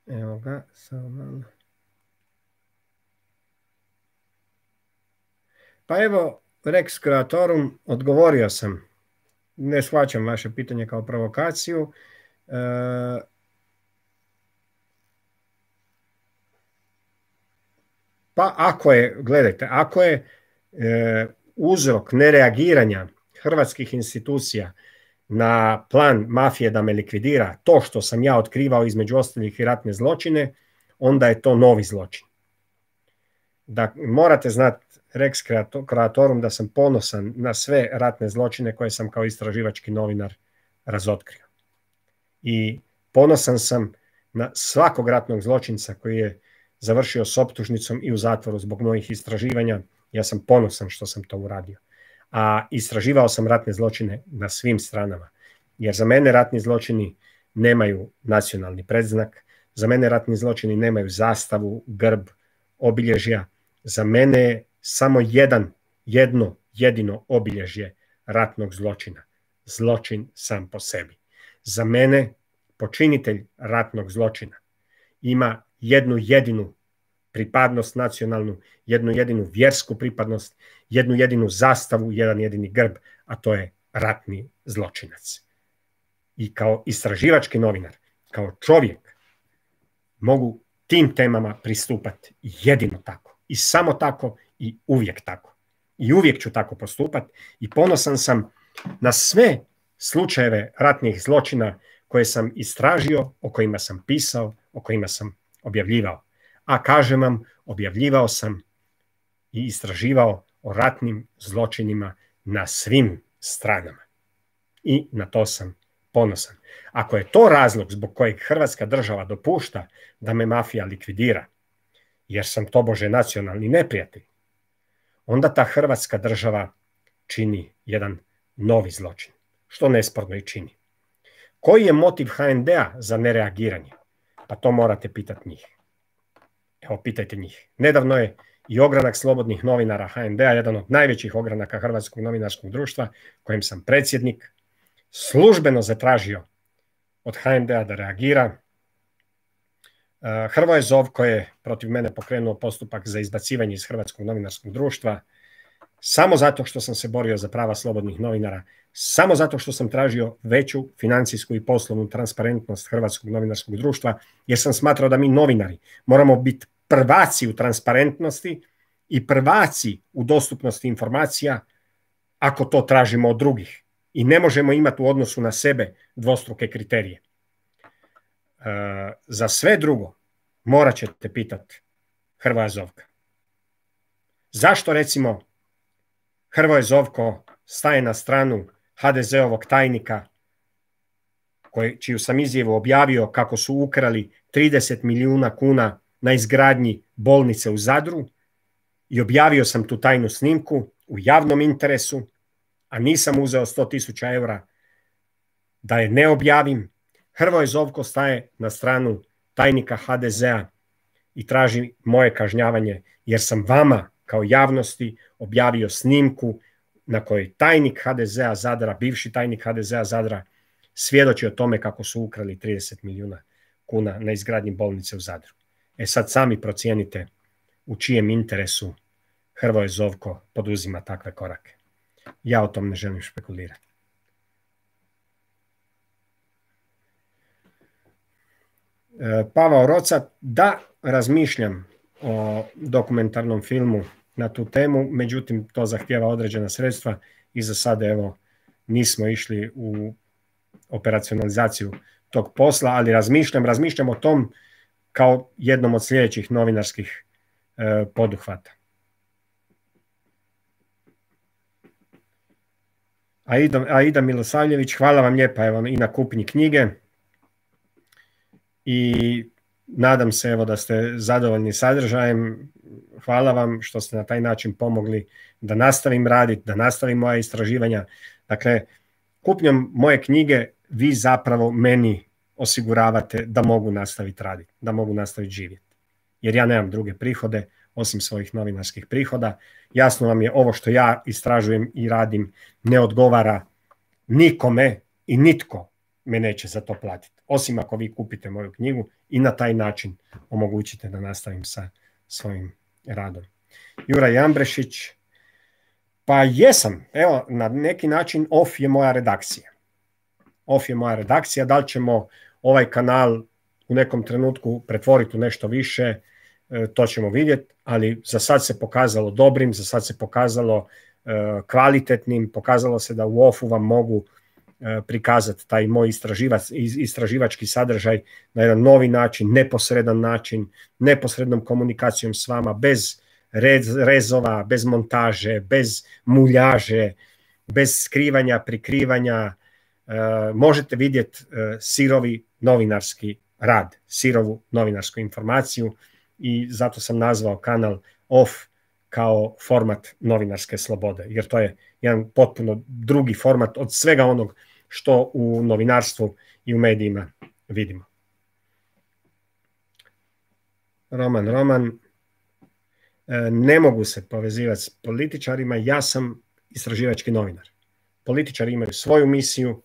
Evo ga, samo malo. Pa evo, Rex Creatorum, odgovorio sam. Ne shvaćam vaše pitanje kao provokaciju. E, pa ako je, gledajte, ako je e, uzrok nereagiranja hrvatskih institucija na plan mafije da me likvidira to što sam ja otkrivao između ostalih i ratne zločine, onda je to novi zločin. Da, morate znati, Rex Creatorum, da sam ponosan na sve ratne zločine koje sam kao istraživački novinar razotkrio. I ponosan sam na svakog ratnog zločinca koji je završio s optužnicom i u zatvoru zbog mojih istraživanja. Ja sam ponosan što sam to uradio. A istraživao sam ratne zločine na svim stranama. Jer za mene ratni zločini nemaju nacionalni predznak, za mene ratni zločini nemaju zastavu, grb, obilježja. Za mene je samo jedan, jedno, jedino obilježje ratnog zločina. Zločin sam po sebi. Za mene počinitelj ratnog zločina ima jednu jedinu pripadnost nacionalnu, jednu jedinu vjersku pripadnost, jednu jedinu zastavu, jedan jedini grb, a to je ratni zločinac. I kao istraživački novinar, kao čovjek, mogu tim temama pristupati jedino tako. I samo tako i uvijek tako. I uvijek ću tako postupati i ponosan sam na sve slučajeve ratnih zločina koje sam istražio, o kojima sam pisao, o kojima sam objavljivao. A kažem vam, objavljivao sam i istraživao o ratnim zločinima na svim stranama. I na to sam ponosan. Ako je to razlog zbog kojeg Hrvatska država dopušta da me mafija likvidira, jer sam tobože nacionalni neprijatelj, onda ta Hrvatska država čini jedan novi zločin, što nesporno i čini. Koji je motiv ha en de-a za nereagiranje? Pa to morate pitati njih. Evo, pitajte njih. Nedavno je i ogranak Slobodnih novinara ha en de-a, jedan od najvećih ogranaka Hrvatskog novinarskog društva, kojem sam predsjednik, službeno zatražio od ha en de-a da reagira Hrvoje Zovko je protiv mene pokrenuo postupak za izbacivanje iz Hrvatskog novinarskog društva samo zato što sam se borio za prava slobodnih novinara, samo zato što sam tražio veću financijsku i poslovnu transparentnost Hrvatskog novinarskog društva, jer sam smatrao da mi novinari moramo biti prvaci u transparentnosti i prvaci u dostupnosti informacija ako to tražimo od drugih. I ne možemo imati u odnosu na sebe dvostruke kriterije. Uh, za sve drugo morat ćete pitati Hrvoja Zovka. Zašto recimo Hrvoje Zovko staje na stranu ha de ze-ovog tajnika koji, čiju sam izjavu objavio kako su ukrali trideset milijuna kuna na izgradnji bolnice u Zadru i objavio sam tu tajnu snimku u javnom interesu, a nisam uzeo sto tisuća eura da je ne objavim. Hrvoje Zovko staje na stranu tajnika ha de ze-a i traži moje kažnjavanje jer sam vama kao javnosti objavio snimku na kojoj tajnik ha de ze-a Zadra, bivši tajnik ha de ze-a Zadra, svjedoči o tome kako su ukrali trideset milijuna kuna na izgradnji bolnice u Zadru. E sad sami procijenite u čijem interesu Hrvoje Zovko poduzima takve korake. Ja o tom ne želim špekulirati. Pavao Rocat, da, razmišljam o dokumentarnom filmu na tu temu, međutim to zahtijeva određena sredstva i za sada evo nismo išli u operacionalizaciju tog posla, ali razmišljam, razmišljam o tom kao jednom od sljedećih novinarskih e, poduhvata. Aida, Aida Milosavljević, hvala vam lijepa evo, i na kupnji knjige i nadam se evo, da ste zadovoljni sadržajem. Hvala vam što ste na taj način pomogli da nastavim raditi, da nastavim moja istraživanja. Dakle, kupnjom moje knjige vi zapravo meni osiguravate da mogu nastaviti raditi, da mogu nastaviti živjeti. Jer ja nemam druge prihode osim svojih novinarskih prihoda. Jasno vam je, ovo što ja istražujem i radim ne odgovara nikome i nitko me neće za to platiti. Osim ako vi kupite moju knjigu i na taj način omogućite da nastavim sa svojim radom. Juraj Ambrešić, pa jesam, evo, na neki način off je moja redakcija. Off je moja redakcija, da li ćemo ovaj kanal u nekom trenutku pretvoriti u nešto više, to ćemo vidjeti, ali za sad se pokazalo dobrim, za sad se pokazalo kvalitetnim, pokazalo se da u offu vam mogu prikazati taj moj istraživač, istraživački sadržaj na jedan novi način, neposredan način, neposrednom komunikacijom s vama, bez rez, rezova, bez montaže, bez muljaže, bez skrivanja, prikrivanja. E, možete vidjeti e, sirovi novinarski rad, sirovu novinarsku informaciju i zato sam nazvao kanal Off kao format novinarske slobode, jer to je jedan potpuno drugi format od svega onog što u novinarstvu i u medijima vidimo. Roman, Roman, ne mogu se povezivati s političarima, ja sam istraživački novinar. Političari imaju svoju misiju,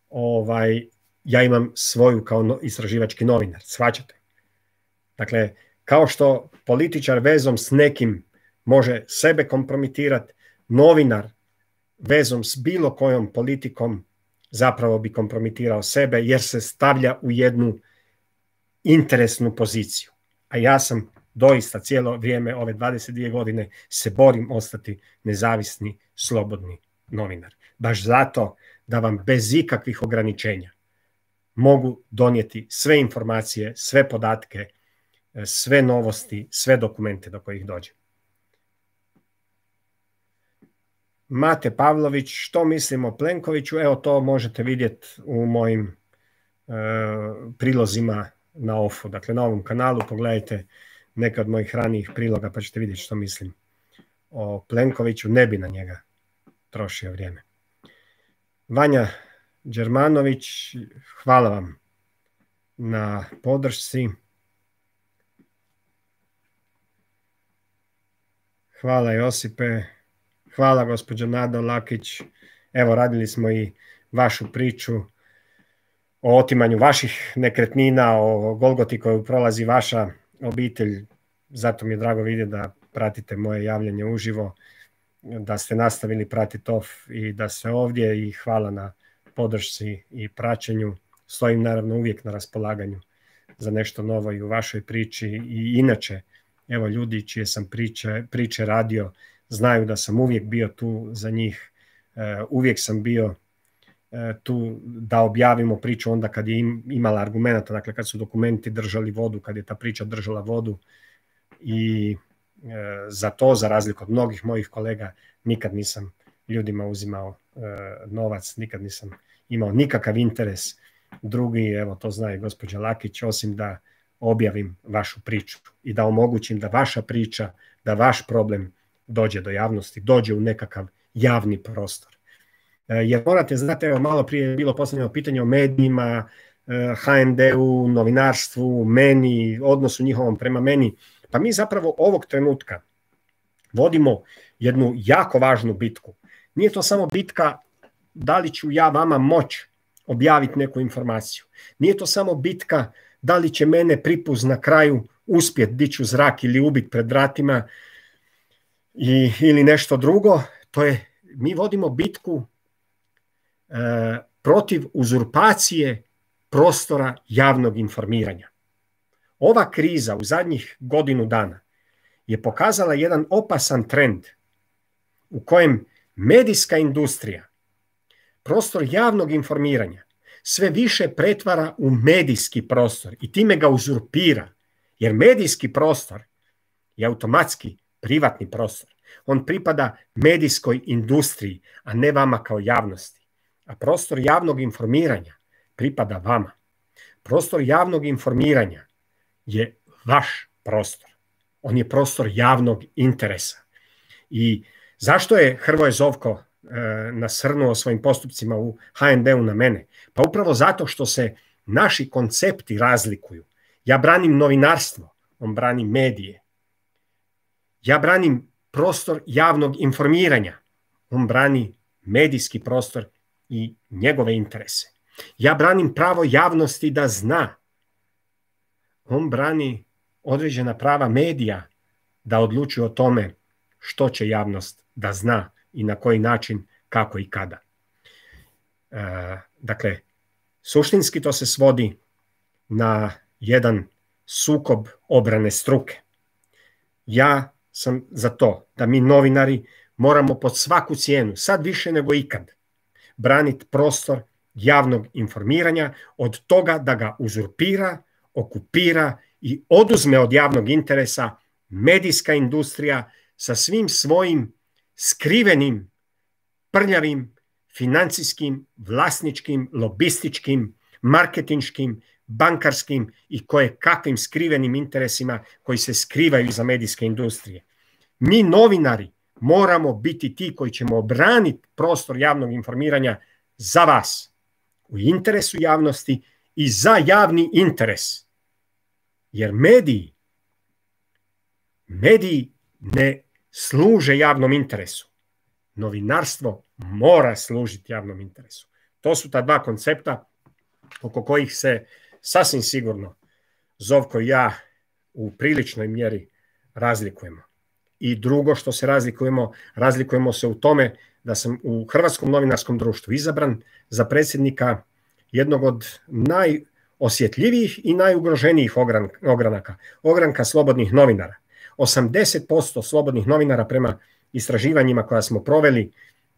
ovaj, ja imam svoju kao istraživački novinar, shvaćate? Dakle, kao što političar vezom s nekim može sebe kompromitirati, novinar vezom s bilo kojom politikom zapravo bi kompromitirao sebe jer se stavlja u jednu interesnu poziciju. A ja sam doista cijelo vrijeme, ove dvadeset dvije godine, se borim ostati nezavisni, slobodni novinar. Baš zato da vam bez ikakvih ograničenja mogu donijeti sve informacije, sve podatke, sve novosti, sve dokumente do kojih dođe. Mate Pavlović, što mislim o Plenkoviću? Evo, to možete vidjeti u mojim e, prilozima na Offu. Dakle, na ovom kanalu pogledajte neke od mojih ranijih priloga pa ćete vidjeti što mislim o Plenkoviću. Ne bi na njega trošio vrijeme. Vanja Đermanović, hvala vam na podršci. Hvala Josipe. Hvala gospođo Nado Lakić. Evo, radili smo i vašu priču o otimanju vaših nekretnina, o Golgoti koju prolazi vaša obitelj. Zato mi je drago vidjeti da pratite moje javljanje uživo, da ste nastavili pratiti Off i da ste ovdje, i hvala na podršci i praćenju. Stojim naravno uvijek na raspolaganju za nešto novo i u vašoj priči i inače. Evo, ljudi čije sam priče, priče radio znaju da sam uvijek bio tu za njih, uvijek sam bio tu da objavimo priču onda kad je imala argumenta, dakle kad su dokumenti držali vodu, kad je ta priča držala vodu. I za to, za razliku od mnogih mojih kolega, nikad nisam ljudima uzimao novac, nikad nisam imao nikakav interes drugi, evo to zna i gospođa Lakić, osim da objavim vašu priču i da omogućim da vaša priča, da vaš problem dođe do javnosti, dođe u nekakav javni prostor. Jer morate znati, evo malo prije je bilo postavljeno pitanje o medijima, ha en de-u, novinarstvu, meni, odnosu njihovom prema meni. Pa mi zapravo ovog trenutka vodimo jednu jako važnu bitku. Nije to samo bitka da li ću ja vama moć objaviti neku informaciju. Nije to samo bitka da li će mene pripuz na kraju uspjeti dići u zrak ili ubiti pred vratima i, ili nešto drugo. To je, mi vodimo bitku e, protiv uzurpacije prostora javnog informiranja. Ova kriza u zadnjih godinu dana je pokazala jedan opasan trend u kojem medijska industrija prostor javnog informiranja sve više pretvara u medijski prostor i time ga uzurpira, jer medijski prostor je automatski privatni prostor. On pripada medijskoj industriji, a ne vama kao javnosti. A prostor javnog informiranja pripada vama. Prostor javnog informiranja je vaš prostor. On je prostor javnog interesa. I zašto je Hrvoje Zovko e, nasrnuo svojim postupcima u ha en de-u na mene? Pa upravo zato što se naši koncepti razlikuju. Ja branim novinarstvo, on brani medije. Ja branim prostor javnog informiranja, on brani medijski prostor i njegove interese. Ja branim pravo javnosti da zna. On brani određena prava medija da odlučuju o tome što će javnost da zna i na koji način, kako i kada. E, dakle, suštinski to se svodi na jedan sukob obrane struke. Ja sam za to da mi novinari moramo pod svaku cijenu, sad više nego ikad, braniti prostor javnog informiranja od toga da ga uzurpira, okupira i oduzme od javnog interesa medijska industrija sa svim svojim skrivenim, prljavim, financijskim, vlasničkim, lobističkim, marketinškim, bankarskim i koje kakvim skrivenim interesima koji se skrivaju iza medijske industrije. Mi novinari moramo biti ti koji ćemo obraniti prostor javnog informiranja za vas, u interesu javnosti i za javni interes. Jer mediji, mediji ne služe javnom interesu. Novinarstvo mora služiti javnom interesu. To su ta dva koncepta oko kojih se sasvim sigurno Zovko i ja u priličnoj mjeri razlikujemo. I drugo što se razlikujemo, razlikujemo se u tome da sam u Hrvatskom novinarskom društvu izabran za predsjednika jednog od najosjetljivijih i najugroženijih ogranaka, ogranka slobodnih novinara. osamdeset posto slobodnih novinara prema istraživanjima koja smo proveli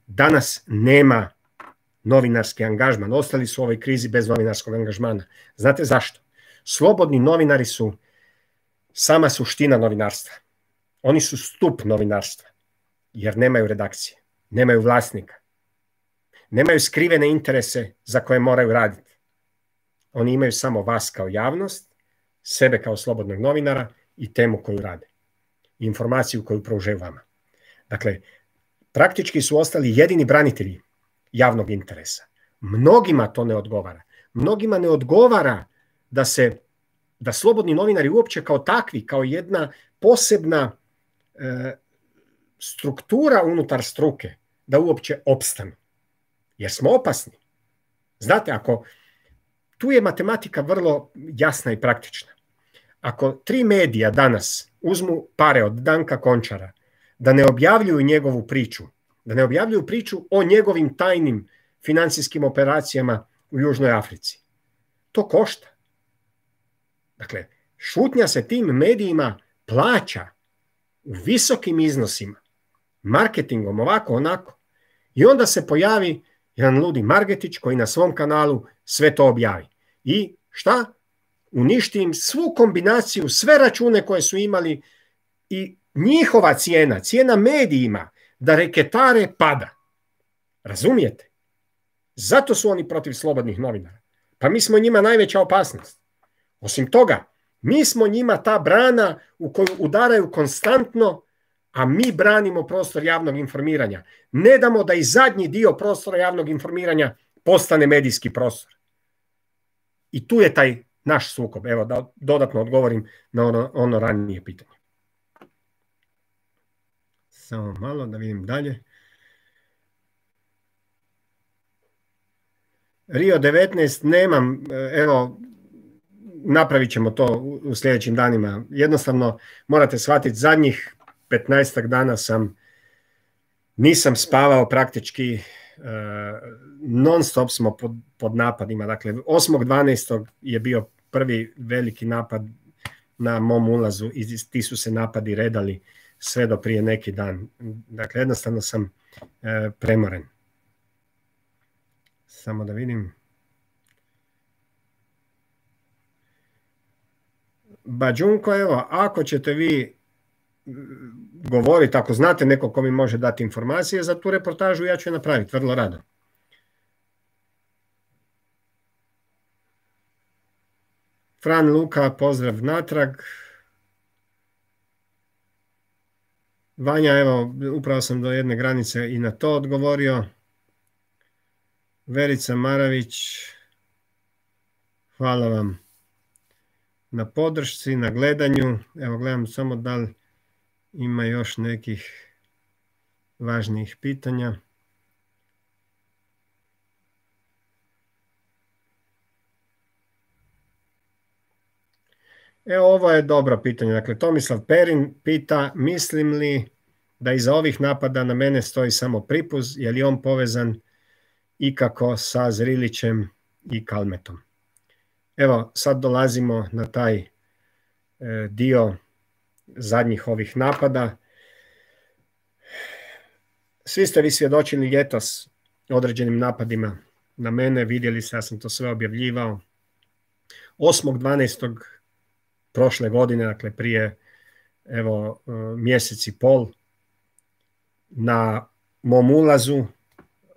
danas nema novinarski angažman. Ostali su u ovoj krizi bez novinarskog angažmana. Znate zašto? Slobodni novinari su sama suština novinarstva. Oni su stup novinarstva, jer nemaju redakcije, nemaju vlasnika, nemaju skrivene interese za koje moraju raditi. Oni imaju samo vas kao javnost, sebe kao slobodnog novinara i temu koju rade. Informaciju koju pružaju vama. Dakle, praktički su ostali jedini branitelji javnog interesa. Mnogima to ne odgovara. Mnogima ne odgovara da se, da slobodni novinari uopće kao takvi, kao jedna posebna e, struktura unutar struke, da uopće opstanu. Jer smo opasni. Znate, ako tu je matematika vrlo jasna i praktična. Ako tri medija danas uzmu pare od Danka Končara, da ne objavljuju njegovu priču, da ne objavljuju priču o njegovim tajnim financijskim operacijama u Južnoj Africi, to košta. Dakle, šutnja se tim medijima plaća u visokim iznosima, marketingom, ovako, onako. I onda se pojavi jedan ludi Margetić koji na svom kanalu sve to objavi. I šta? Uništi im svu kombinaciju, sve račune koje su imali i njihova cijena, cijena medijima da reketare pada. Razumijete? Zato su oni protiv slobodnih novinara. Pa mi smo njima najveća opasnost. Osim toga, mi smo njima ta brana u koju udaraju konstantno, a mi branimo prostor javnog informiranja. Ne damo da i zadnji dio prostora javnog informiranja postane medijski prostor. I tu je taj naš sukob. Evo da dodatno odgovorim na ono, ono ranije pitanje. Samo malo da vidim dalje. Rio devetnaest nemam, evo, napravit ćemo to u sljedećim danima. Jednostavno morate shvatiti, zadnjih petnaestak dana sam, nisam spavao praktički, non stop smo pod, pod napadima. Dakle, osmog dvanaestog je bio prvi veliki napad na mom ulazu i ti su se napadi redali sve do prije neki dan. Dakle, jednostavno sam e, premoren. Samo da vidim. Bađunko, evo, ako ćete vi govoriti, ako znate neko ko mi može dati informacije za tu reportažu, ja ću je napraviti vrlo rado. Fran Luka, pozdrav natrag. Vanja, evo, upravo sam do jedne granice i na to odgovorio. Verica Maravić, hvala vam na podršci, na gledanju. Evo, gledam samo da li ima još nekih važnijih pitanja. Evo, ovo je dobro pitanje. Dakle, Tomislav Perin pita, mislim li da iza ovih napada na mene stoji samo Pripuz, je li on povezan ikako sa Zrilićem i Kalmetom? Evo, sad dolazimo na taj e, dio zadnjih ovih napada. Svi ste vi svjedočili ljetos određenim napadima na mene, vidjeli ste, ja sam to sve objavljivao. osmog dvanaestog prošle godine, dakle prije evo mjesec i pol, na mom ulazu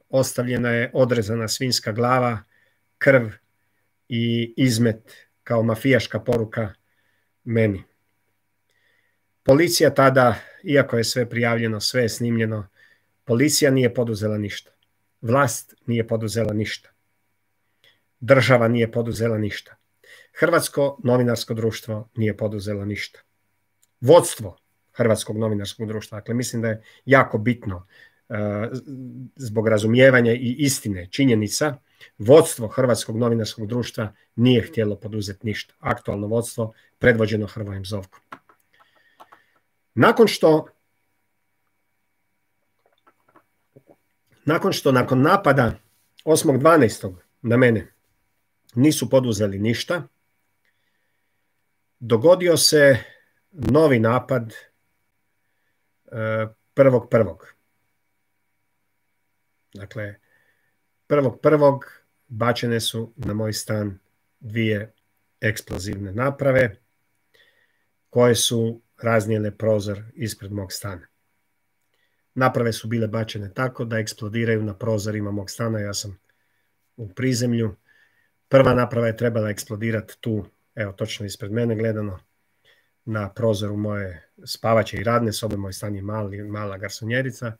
ostavljena je odrezana svinjska glava, krv i izmet kao mafijaška poruka meni. Policija tada, iako je sve prijavljeno, sve je snimljeno, policija nije poduzela ništa. Vlast nije poduzela ništa. Država nije poduzela ništa. Hrvatsko novinarsko društvo nije poduzelo ništa. Vodstvo Hrvatskog novinarskog društva, dakle mislim da je jako bitno uh, zbog razumijevanja i istine činjenica, vodstvo Hrvatskog novinarskog društva nije htjelo poduzeti ništa. Aktualno vodstvo predvođeno Hrvojem Zovkom. Nakon što nakon što nakon napada osmog dvanaestog na mene nisu poduzeli ništa, dogodio se novi napad prvog prvog. Dakle, prvog prvog bačene su na moj stan dvije eksplozivne naprave koje su raznijele prozor ispred mog stana. Naprave su bile bačene tako da eksplodiraju na prozorima mog stana, ja sam u prizemlju. Prva naprava je trebala eksplodirati tu, evo točno ispred mene gledano, na prozoru moje spavaće i radne sobe, moj stan je mali, mala garsonjerica,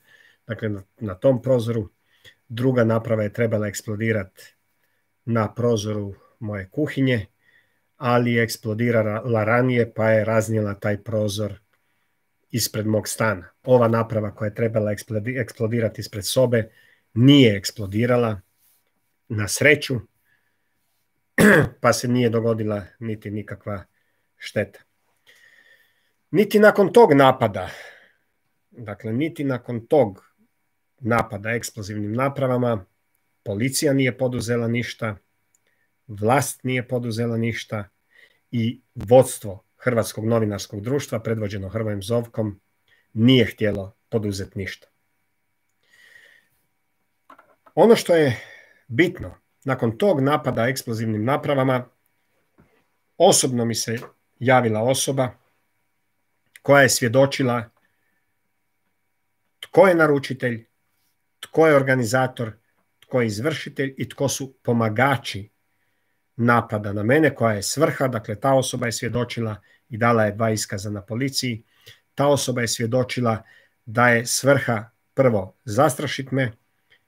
dakle na, na tom prozoru. Druga naprava je trebala eksplodirati na prozoru moje kuhinje, ali je eksplodirala ranije pa je raznijela taj prozor ispred mog stana. Ova naprava koja je trebala eksplodirati ispred sobe nije eksplodirala, na sreću. pa se nije dogodila niti nikakva šteta. Niti nakon tog napada, dakle, niti nakon tog napada eksplozivnim napravama, policija nije poduzela ništa, vlast nije poduzela ništa i vodstvo Hrvatskog novinarskog društva, predvođeno Hrvojem Zovkom, nije htjelo poduzeti ništa. Ono što je bitno, nakon tog napada eksplozivnim napravama, osobno mi se javila osoba koja je svjedočila tko je naručitelj, tko je organizator, tko je izvršitelj i tko su pomagači napada na mene, koja je svrha. Dakle, ta osoba je svjedočila i dala je dva iskaza na policiji. Ta osoba je svjedočila da je svrha prvo zastrašiti me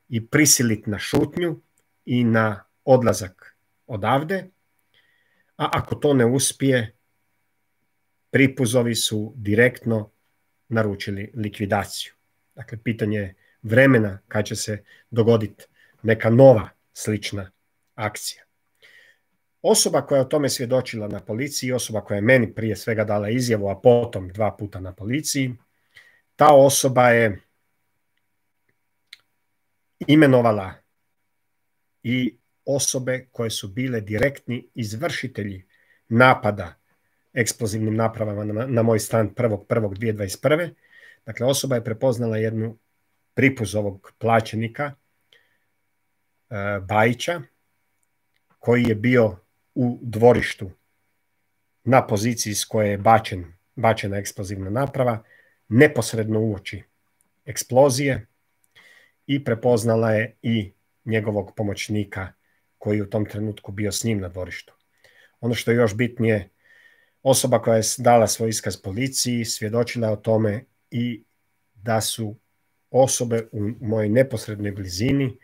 i prisiliti na šutnju i na odlazak odavde, a ako to ne uspije, pripuzovi su direktno naručili likvidaciju. Dakle, pitanje je vremena kad će se dogoditi neka nova slična akcija. Osoba koja je o tome svjedočila na policiji, osoba koja je meni prije svega dala izjavu, a potom dva puta na policiji, ta osoba je imenovala i osobe koje su bile direktni izvršitelji napada eksplozivnim napravama na, na moj stan prvog prvog dvije tisuće dvadeset prve. Dakle, osoba je prepoznala jednu pripuzovog plaćenika e, Bajića, koji je bio u dvorištu na poziciji s koje je bačen, bačena eksplozivna naprava, neposredno uoči eksplozije, i prepoznala je i njegovog pomoćnika koji je u tom trenutku bio s njim na dvorištu. Ono što je još bitnije, osoba koja je dala svoj iskaz policiji svjedočila o tome i da su osobe u mojoj neposrednoj blizini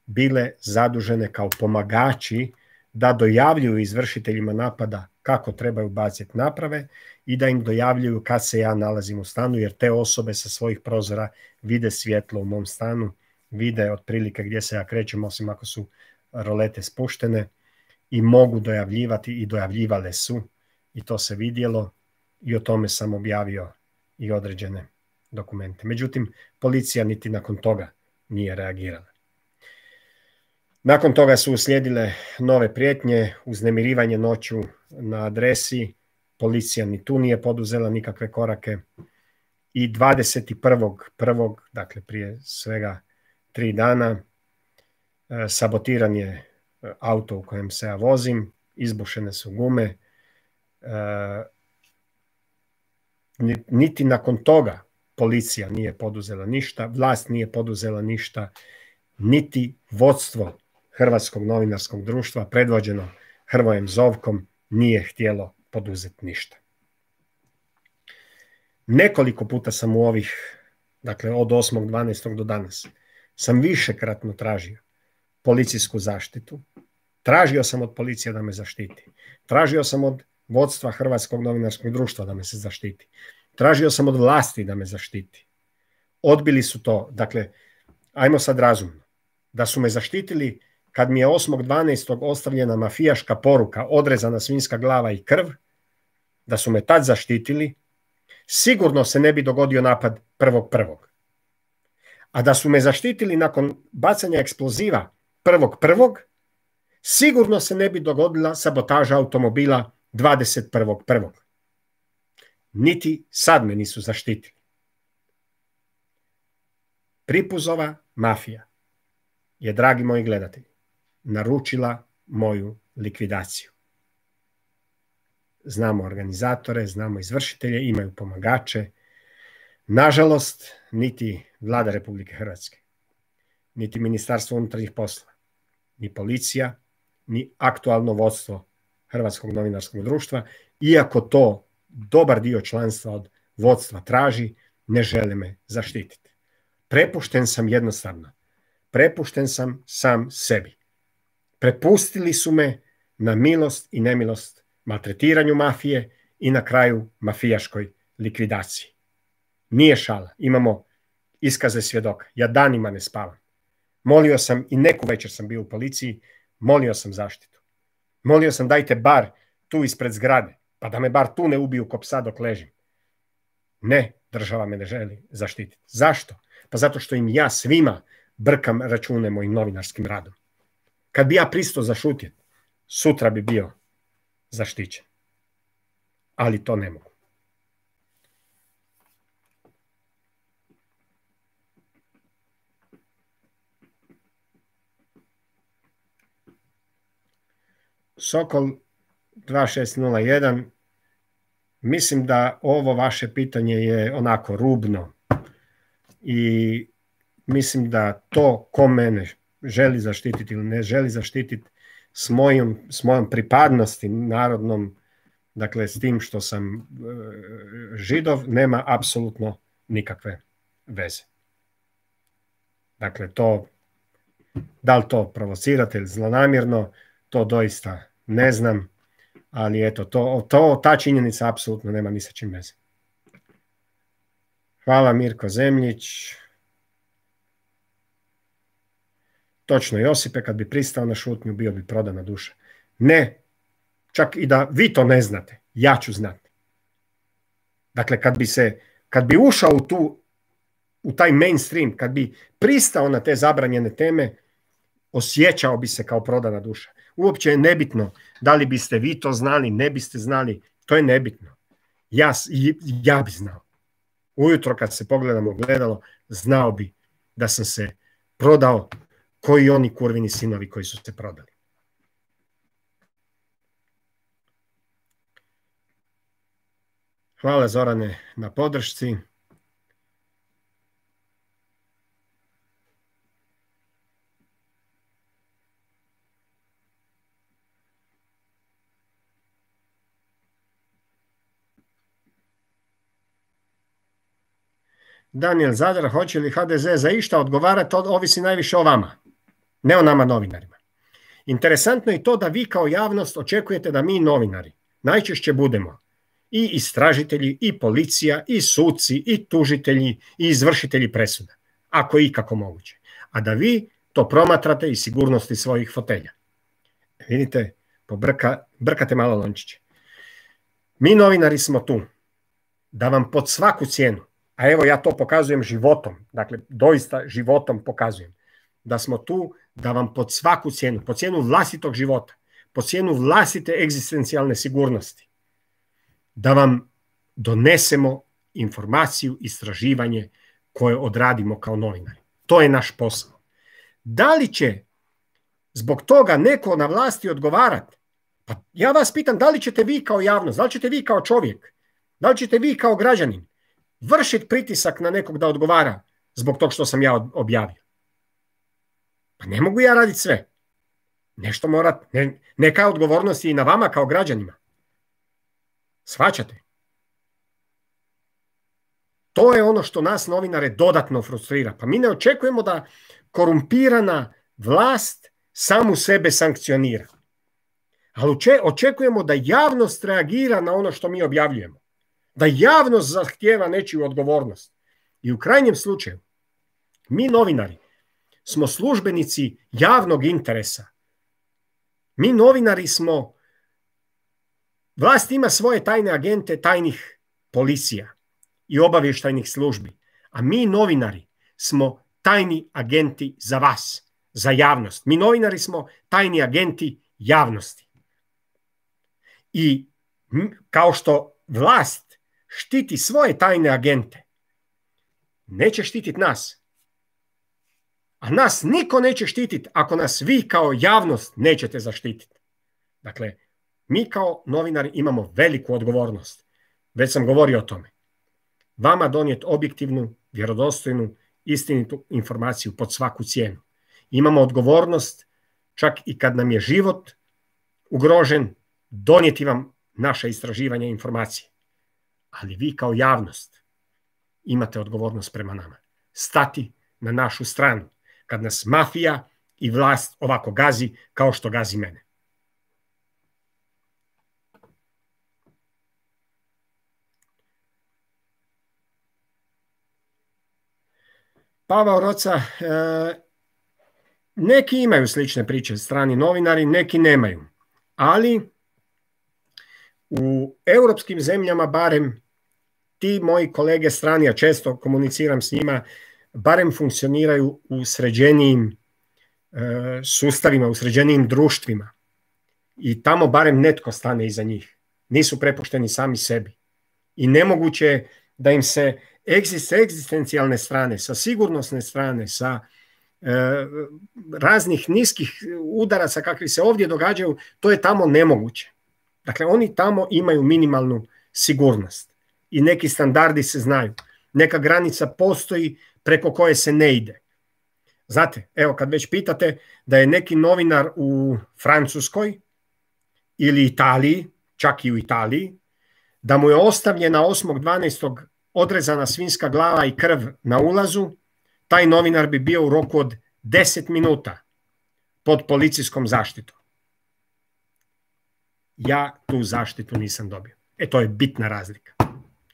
bile zadužene kao pomagači da dojavljuju izvršiteljima napada kako trebaju baciti naprave i da im dojavljuju kad se ja nalazim u stanu, jer te osobe sa svojih prozora vide svjetlo u mom stanu, vide otprilike gdje se ja krećem, osim ako su rolete spuštene, i mogu dojavljivati i dojavljivale su, i to se vidjelo, i o tome sam objavio i određene dokumente. Međutim, policija niti nakon toga nije reagirala. Nakon toga su uslijedile nove prijetnje, uznemirivanje noću na adresi, policija ni tu nije poduzela nikakve korake, i dvadeset prvog prvog, dakle prije svega tri dana, sabotiran je auto u kojem se ja vozim, izbušene su gume, niti nakon toga policija nije poduzela ništa, vlast nije poduzela ništa, niti vodstvo Hrvatskog novinarskog društva, predvođeno Hrvojem Zovkom, nije htjelo poduzeti ništa. Nekoliko puta sam u ovih, dakle od osmog dvanaestog do danas, sam višekratno tražio policijsku zaštitu. Tražio sam od policije da me zaštiti. Tražio sam od vodstva Hrvatskog novinarskog društva da me se zaštiti. Tražio sam od vlasti da me zaštiti. Odbili su to. Dakle, ajmo sad razumno. Da su me zaštitili kad mi je osmog dvanaestog ostavljena mafijaška poruka, odrezana svinjska glava i krv, da su me tad zaštitili, sigurno se ne bi dogodio napad prvog prvog. A da su me zaštitili nakon bacanja eksploziva prvog prvog, sigurno se ne bi dogodila sabotaža automobila dvadeset prvog prvog. Niti sad me nisu zaštitili. Pripuzova mafija je, dragi moji gledatelji, naručila moju likvidaciju. Znamo organizatore, znamo izvršitelje, imaju pomagače. Nažalost, niti Vlada Republike Hrvatske, niti Ministarstvo unutarnjih poslova, ni policija, ni aktualno vodstvo Hrvatskog novinarskog društva, iako to dobar dio članstva od vodstva traži, ne žele me zaštititi. Prepušten sam jednostavno. Prepušten sam sam sebi. Prepustili su me na milost i nemilost maltretiranju mafije i na kraju mafijaškoj likvidaciji. Nije šala. Imamo iskaze svjedoka. Ja danima ne spavam. Molio sam, i neku večer sam bio u policiji, molio sam zaštitu. Molio sam dajte bar tu ispred zgrade, pa da me bar tu ne ubiju ko psa dok ležim. Ne, država me ne želi zaštititi. Zašto? Pa zato što im ja svima brkam račune mojim novinarskim radom. Kad bi ja pristao zašutjeti, sutra bi bio zaštićen. Ali to ne mogu. Sokol dva šest nula jedan, mislim da ovo vaše pitanje je onako rubno i mislim da to ko mene želi zaštititi ili ne želi zaštititi s mojom, s mojom pripadnosti narodnom, dakle s tim što sam e, Židov, nema apsolutno nikakve veze. Dakle, to, da li to provocirate ili zlonamjerno, to doista ne znam, ali eto, to, to, ta činjenica apsolutno nema ni sa čim veze. Hvala Mirko Zemljić. Točno, Josipe, kad bi pristao na šutnju, bio bi prodana duša. Ne, čak i da vi to ne znate, ja ću znati. Dakle, kad bi se, kad bi ušao u tu, u taj mainstream, kad bi pristao na te zabranjene teme, osjećao bi se kao prodana duša. Uopće je nebitno da li biste vi to znali, ne biste znali, to je nebitno. Ja, ja bi znao. Ujutro kad se pogledam u gledalo, znao bi da sam se prodao koji oni kurvini sinovi koji su se prodali. Hvala Zorane na podršci. Daniel Zadar, hoće li H D Z za išta odgovarati, ovisi najviše o vama, ne o nama novinarima. Interesantno je to da vi kao javnost očekujete da mi novinari najčešće budemo i istražitelji, i policija, i suci, i tužitelji, i izvršitelji presuda, ako je ikako moguće. A da vi to promatrate iz sigurnosti svojih fotelja. Vidite, pobrka, brkate malo lončiće. Mi novinari smo tu da vam pod svaku cijenu, a evo ja to pokazujem životom, dakle doista životom pokazujem, da smo tu da vam pod svaku cijenu, pod cijenu vlastitog života, pod cijenu vlastite egzistencijalne sigurnosti, da vam donesemo informaciju, istraživanje koje odradimo kao novinari. To je naš posao. Da li će zbog toga neko na vlasti odgovarati? Pa ja vas pitam, da li ćete vi kao javnost, da li ćete vi kao čovjek, da li ćete vi kao građanin vršiti pritisak na nekog da odgovara zbog tog što sam ja objavio? Pa ne mogu ja raditi sve. Nešto mora, ne, neka odgovornost je i na vama kao građanima. Shvaćate? To je ono što nas novinare dodatno frustrira. Pa mi ne očekujemo da korumpirana vlast samu sebe sankcionira. Ali očekujemo da javnost reagira na ono što mi objavljujemo. Da javnost zahtijeva nečiju odgovornost. I u krajnjem slučaju, mi novinari smo službenici javnog interesa. Mi novinari smo, vlast ima svoje tajne agente tajnih policija i obavještajnih službi, a mi novinari smo tajni agenti za vas, za javnost. Mi novinari smo tajni agenti javnosti. I kao što vlast štiti svoje tajne agente, neće štititi nas. A nas niko neće štititi ako nas vi kao javnost nećete zaštititi. Dakle, mi kao novinari imamo veliku odgovornost. Već sam govorio o tome. Vama donijeti objektivnu, vjerodostojnu, istinitu informaciju pod svaku cijenu. Imamo odgovornost, čak i kad nam je život ugrožen, donijeti vam naše istraživanja i informacije. Ali vi kao javnost imate odgovornost prema nama. Stati na našu stranu kad nas mafija i vlast ovako gazi kao što gazi mene. Pavao Roca, neki imaju slične priče, strani novinari, neki nemaju. ali u europskim zemljama barem ti moji kolege strani, a često komuniciram s njima, barem funkcioniraju u sređenijim e, sustavima, u sređenijim društvima. I tamo barem netko stane iza njih. Nisu prepušteni sami sebi. I nemoguće je da im se s egzistencijalne strane, sa sigurnosne strane, sa e, raznih niskih udaraca kakvi se ovdje događaju, to je tamo nemoguće. Dakle, oni tamo imaju minimalnu sigurnost i neki standardi se znaju. Neka granica postoji preko koje se ne ide. Znate, evo kad već pitate da je neki novinar u Francuskoj ili Italiji, čak i u Italiji, da mu je ostavljena osmog dvanaestog odrezana svinjska glava i krv na ulazu, taj novinar bi bio u roku od deset minuta pod policijskom zaštitom. Ja tu zaštitu nisam dobio. E, to je bitna razlika.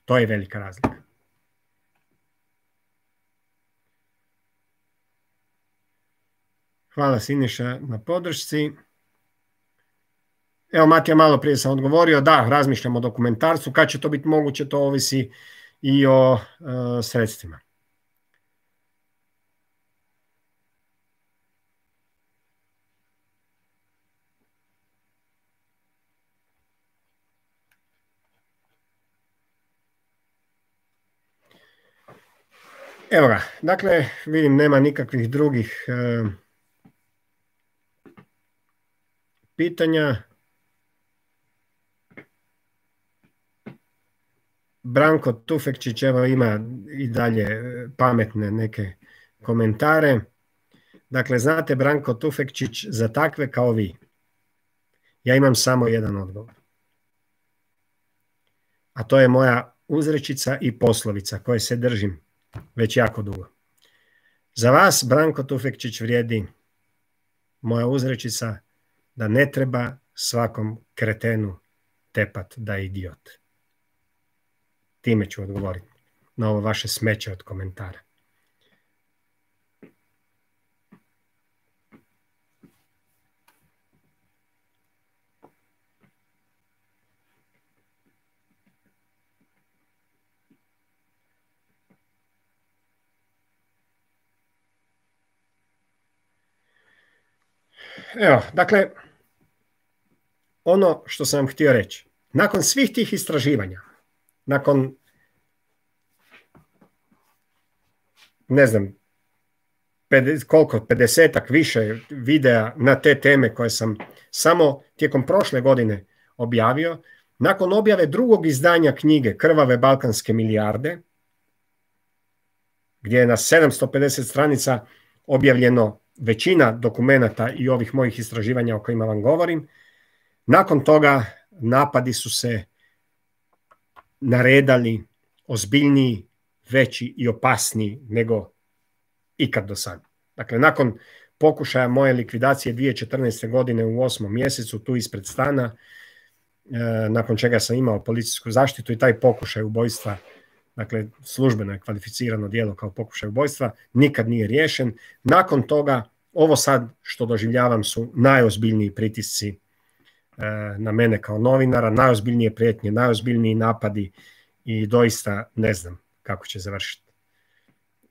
To je velika razlika. Hvala Siniša na podršci. Evo, Matija, malo prije sam odgovorio, da, razmišljam o dokumentarcu. Kad će to biti moguće, to ovisi i o uh, sredstvima. Evo ga, dakle, vidim nema nikakvih drugih uh, pitanja. Branko Tufekčić evo ima i dalje pametne neke komentare. Dakle, znate, Branko Tufekčić, za takve kao vi, ja imam samo jedan odgovor. A to je moja uzrečica i poslovica koje se držim već jako dugo. Za vas, Branko Tufekčić, vrijedi moja uzrečica da ne treba svakom kretenu tepat da je idiot. Time ću odgovoriti na ovo vaše smeće od komentara. Evo, dakle, ono što sam vam htio reći, nakon svih tih istraživanja, nakon, ne znam, pedeset, koliko, pedesetak više videa na te teme koje sam samo tijekom prošle godine objavio, nakon objave drugog izdanja knjige Krvave balkanske milijarde, gdje je na sedamsto pedeset stranica objavljeno većina dokumenata i ovih mojih istraživanja o kojima vam govorim, nakon toga napadi su se naredali ozbiljniji, veći i opasniji nego ikad do sad. Dakle, nakon pokušaja moje likvidacije dvije tisuće četrnaeste. godine u osmom mjesecu tu ispred stana, e, nakon čega sam imao policijsku zaštitu i taj pokušaj ubojstva, dakle službeno je kvalificirano djelo kao pokušaj ubojstva, nikad nije riješen. Nakon toga, ovo sad što doživljavam su najozbiljniji pritisci e, na mene kao novinara, najozbiljnije prijetnje, najozbiljniji napadi i doista ne znam kako će završiti.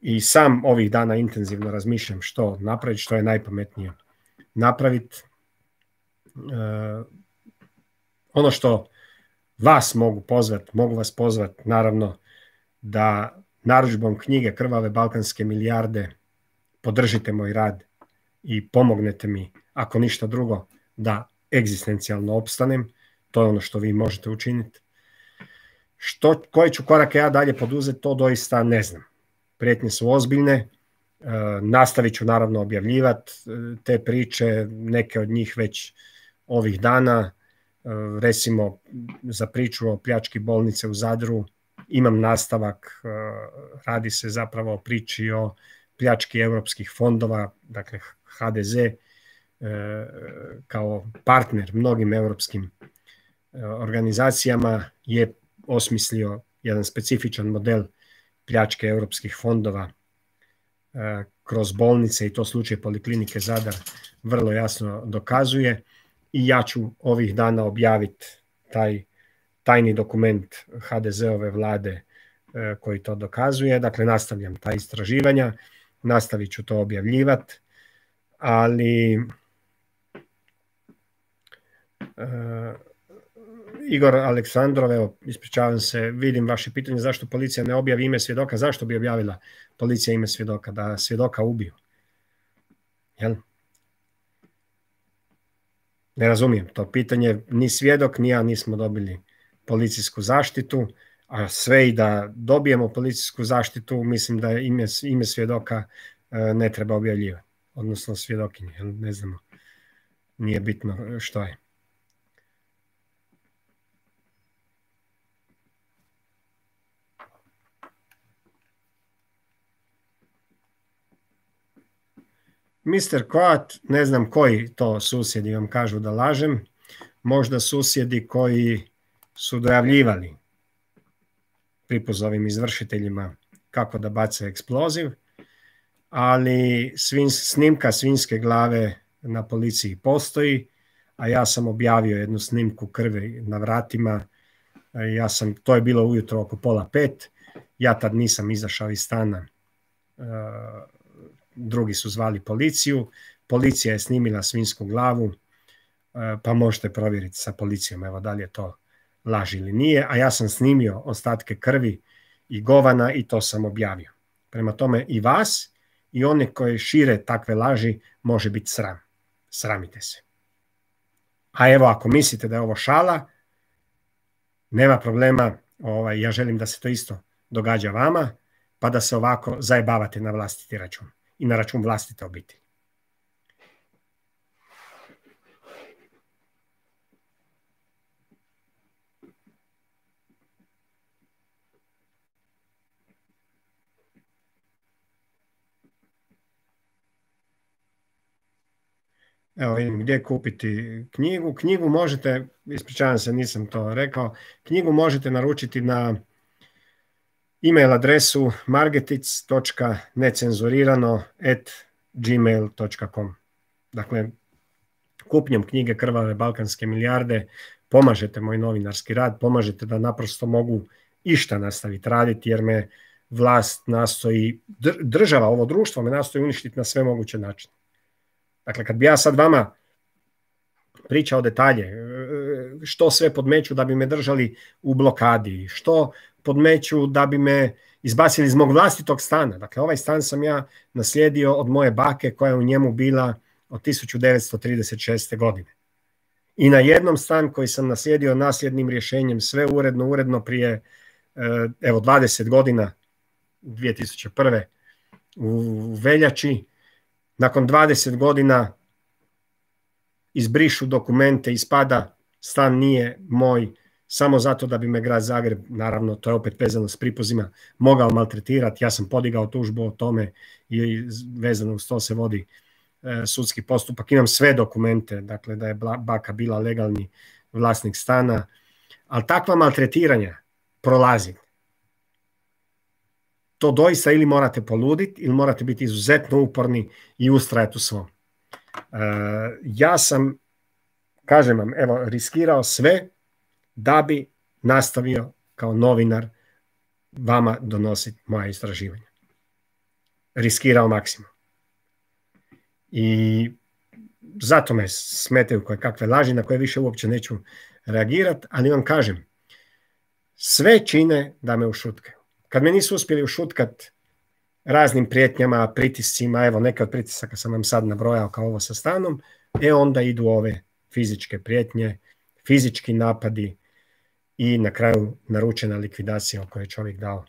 I sam ovih dana intenzivno razmišljam što napraviti, što je najpametnije napraviti. E, ono što vas mogu pozvati, mogu vas pozvati naravno da narudžbom knjige Krvave balkanske milijarde podržite moj rad i pomognete mi, ako ništa drugo, da egzistencijalno opstanem. To je ono što vi možete učiniti. Što, koje ću korake ja dalje poduzeti, to doista ne znam. Prijetnje su ozbiljne, e, nastavit ću naravno objavljivati te priče, neke od njih već ovih dana, e, recimo za priču o pljački bolnice u Zadru, imam nastavak, e, radi se zapravo o priči o pljački europskih fondova, dakle ha de ze e, kao partner mnogim europskim e, organizacijama je osmislio jedan specifičan model pljačke europskih fondova e, kroz bolnice i to slučaj Poliklinike Zadar vrlo jasno dokazuje i ja ću ovih dana objaviti taj tajni dokument ha de ze-ove vlade koji to dokazuje. Dakle, nastavljam ta istraživanja, nastavit ću to objavljivati, ali uh, Igor Aleksandrov, evo, ispričavam se, vidim vaše pitanje zašto policija ne objavi ime svjedoka. Zašto bi objavila policija ime svjedoka? Da svjedoka ubiju. Jel? Ne razumijem to pitanje. Ni svjedok, ni ja nismo dobili policijsku zaštitu, a sve i da dobijemo policijsku zaštitu, mislim da ime, ime svjedoka ne treba objavljivati. Odnosno svjedokinje. Ne znamo. Nije bitno što je. mister Koat, ne znam koji to susjedi vam kažu da lažem, možda susjedi koji su dojavljivali Pripuzovim izvršiteljima kako da bace eksploziv, ali svin, snimka svinjske glave na policiji postoji, a ja sam objavio jednu snimku krvi na vratima. Ja sam, to je bilo ujutro oko pola pet, ja tad nisam izašao iz stana, drugi su zvali policiju, policija je snimila svinjsku glavu, pa možete provjeriti sa policijom, evo da li je to laž ili nije, a ja sam snimio ostatke krvi i govana i to sam objavio. Prema tome i vas i one koji šire takve laži može biti sram. Sramite se. A evo, ako mislite da je ovo šala, nema problema, ovaj, ja želim da se to isto događa vama, pa da se ovako zajebavate na vlastiti račun i na račun vlastite obitelji. Evo vidim gdje kupiti knjigu. Knjigu možete, ispričavam se, nisam to rekao, knjigu možete naručiti na e-mail adresu margetic točka necenzurirano at gmail točka com. Dakle, kupnjom knjige Krvave balkanske milijarde pomažete moj novinarski rad, pomažete da naprosto mogu išta nastaviti raditi, jer me vlast nastoji, država, ovo društvo me nastoji uništiti na sve moguće načine. Dakle, kad bi ja sad vama pričao detalje, što sve podmeću da bi me držali u blokadi, što podmeću da bi me izbacili iz mog vlastitog stana. Dakle, ovaj stan sam ja naslijedio od moje bake koja je u njemu bila od tisuću devetsto trideset šeste. godine. I na jednom stan koji sam naslijedio nasljednim rješenjem, sve uredno, uredno prije evo dvadeset godina, dvije tisuće prve. u veljači, nakon dvadeset godina izbrišu dokumente, ispada stan nije moj, samo zato da bi me grad Zagreb, naravno to je opet vezano s Pripuzima, mogao maltretirati. Ja sam podigao tužbu o tome i vezano uz to se vodi e, sudski postupak. Imam sve dokumente, dakle da je baka bila legalni vlasnik stana, ali takva maltretiranja prolazi. To doista ili morate poluditi ili morate biti izuzetno uporni i ustrajati u svom. E, ja sam, kažem vam, evo, riskirao sve da bi nastavio kao novinar vama donositi moja istraživanja. Riskirao maksimum. I zato me smetaju koje kakve laži na koje više uopće neću reagirati, ali vam kažem, sve čine da me ušutkaju. Kad me nisu uspjeli ušutkat raznim prijetnjama, pritiscima, evo neke od pritisaka sam vam sad nabrojao kao ovo sa stanom, e onda idu ove fizičke prijetnje, fizički napadi i na kraju naručena likvidacija o kojoj je čovjek dao,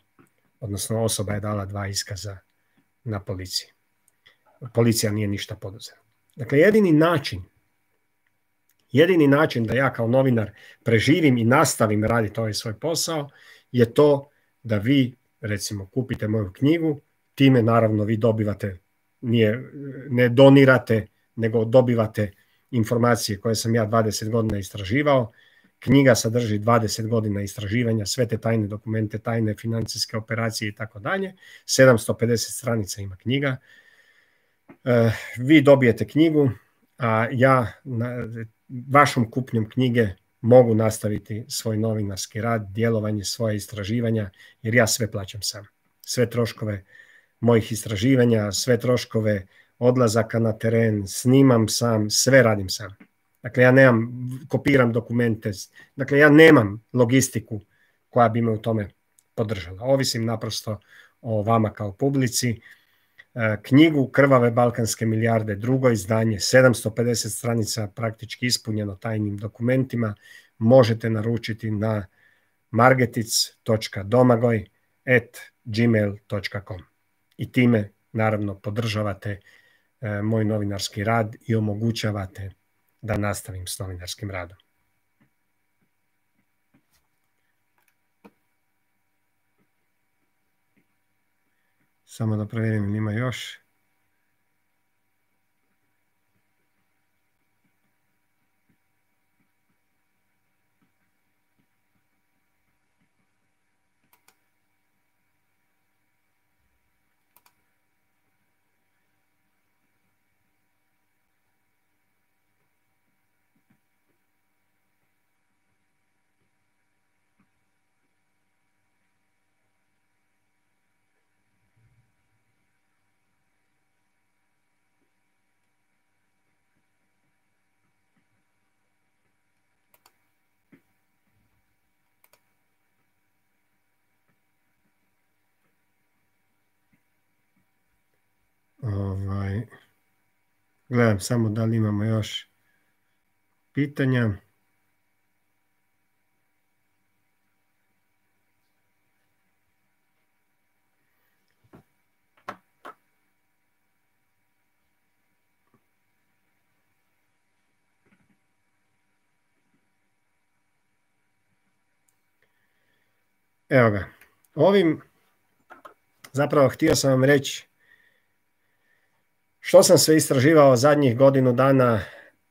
odnosno osoba je dala dva iskaza na policiji. Policija nije ništa poduzela. Dakle, jedini način, jedini način da ja kao novinar preživim i nastavim raditi ovaj svoj posao je to da vi, recimo, kupite moju knjigu, time naravno vi dobivate, nije, ne donirate, nego dobivate informacije koje sam ja dvadeset godina istraživao. Knjiga sadrži dvadeset godina istraživanja, sve te tajne dokumente, tajne financijske operacije i tako dalje. sedamsto pedeset stranica ima knjiga. E, vi dobijete knjigu, a ja vašom kupnjom knjige mogu nastaviti svoj novinarski rad, djelovanje, svoje istraživanja, jer ja sve plaćam sam. Sve troškove mojih istraživanja, sve troškove odlazaka na teren, snimam sam, sve radim sam. Dakle, ja nemam, kopiram dokumente, dakle, ja nemam logistiku koja bi me u tome podržala. Ovisim naprosto o vama kao publici. Knjigu Krvave balkanske milijarde, drugo izdanje, sedamsto pedeset stranica praktički ispunjeno tajnim dokumentima, možete naručiti na margetic točka domagoj at gmail točka com i time naravno podržavate e, moj novinarski rad i omogućavate da nastavim s novinarskim radom. Samo da provjerim, ima još. Ovaj, gledam samo da li imamo još pitanja. Evo ga. Ovim zapravo htio sam vam reći što sam sve istraživao zadnjih godinu dana,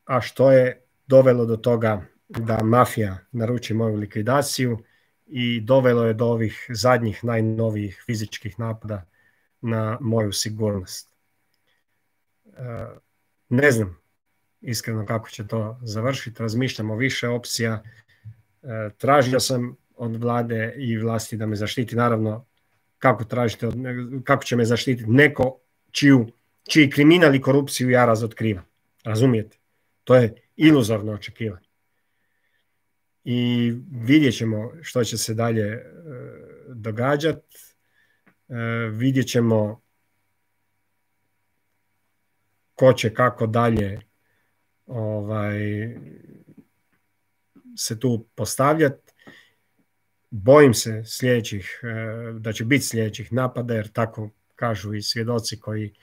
a što je dovelo do toga da mafija naruči moju likvidaciju i dovelo je do ovih zadnjih najnovijih fizičkih napada na moju sigurnost. Ne znam iskreno kako će to završiti, razmišljam o više opcija. Tražio sam od vlade i vlasti da me zaštiti, naravno kako tražite, kako će me zaštititi neko čiju čiji kriminal i korupciju ja razotkrivam. Razumijete? To je iluzorno očekivanje. I vidjet ćemo što će se dalje e, događati. E, vidjet ćemo ko će kako dalje ovaj, se tu postavljati. Bojim se sljedećih, e, da će biti sljedećih napada, jer tako kažu i svjedoci koji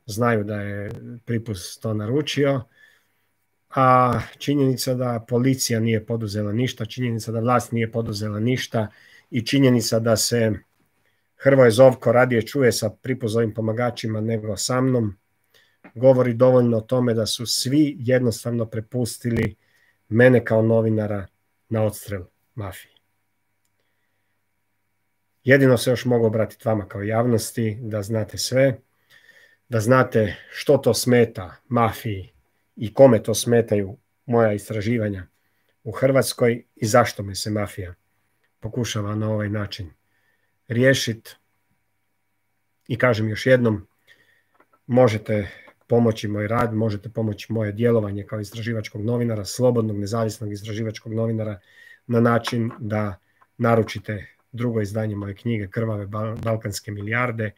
znaju da je Pripuz to naručio, a činjenica da policija nije poduzela ništa, činjenica da vlast nije poduzela ništa i činjenica da se Hrvoje Zovko radije čuje sa Pripuzovim pomagačima nego sa mnom, govori dovoljno o tome da su svi jednostavno prepustili mene kao novinara na odstrel mafiji. Jedino se još mogu obratiti vama kao javnosti, da znate sve, da znate što to smeta mafiji i kome to smetaju moja istraživanja u Hrvatskoj i zašto me se mafija pokušava na ovaj način riješiti. I kažem još jednom, možete pomoći moj rad, možete pomoći moje djelovanje kao istraživačkog novinara, slobodnog, nezavisnog istraživačkog novinara, na način da naručite drugo izdanje moje knjige Krvave balkanske milijarde,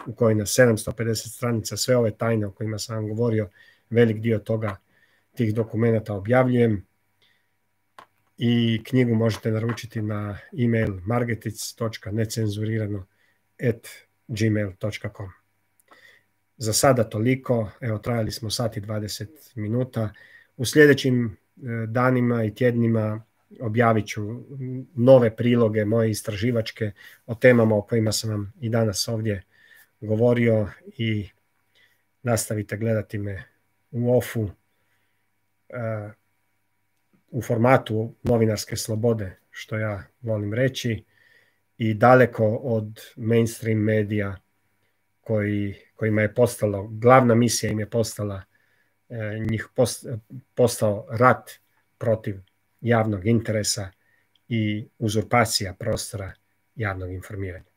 u kojoj na sedamsto pedeset stranica sve ove tajne o kojima sam vam govorio, velik dio toga, tih dokumenata objavljujem. I knjigu možete naručiti na e-mail margetic točka necenzurirano at gmail točka com. Za sada toliko, evo trajali smo sat i dvadeset minuta. U sljedećim danima i tjednima objavit ću nove priloge moje istraživačke o temama o kojima sam vam i danas ovdje govorio i nastavite gledati me u ofu u formatu novinarske slobode, što ja volim reći, i daleko od mainstream medija koji, kojima je postalo, glavna misija im je postala, njih post, postao rat protiv javnog interesa i uzurpacija prostora javnog informiranja.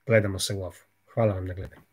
Gledamo se u ovu. Hvala vam na gledanju.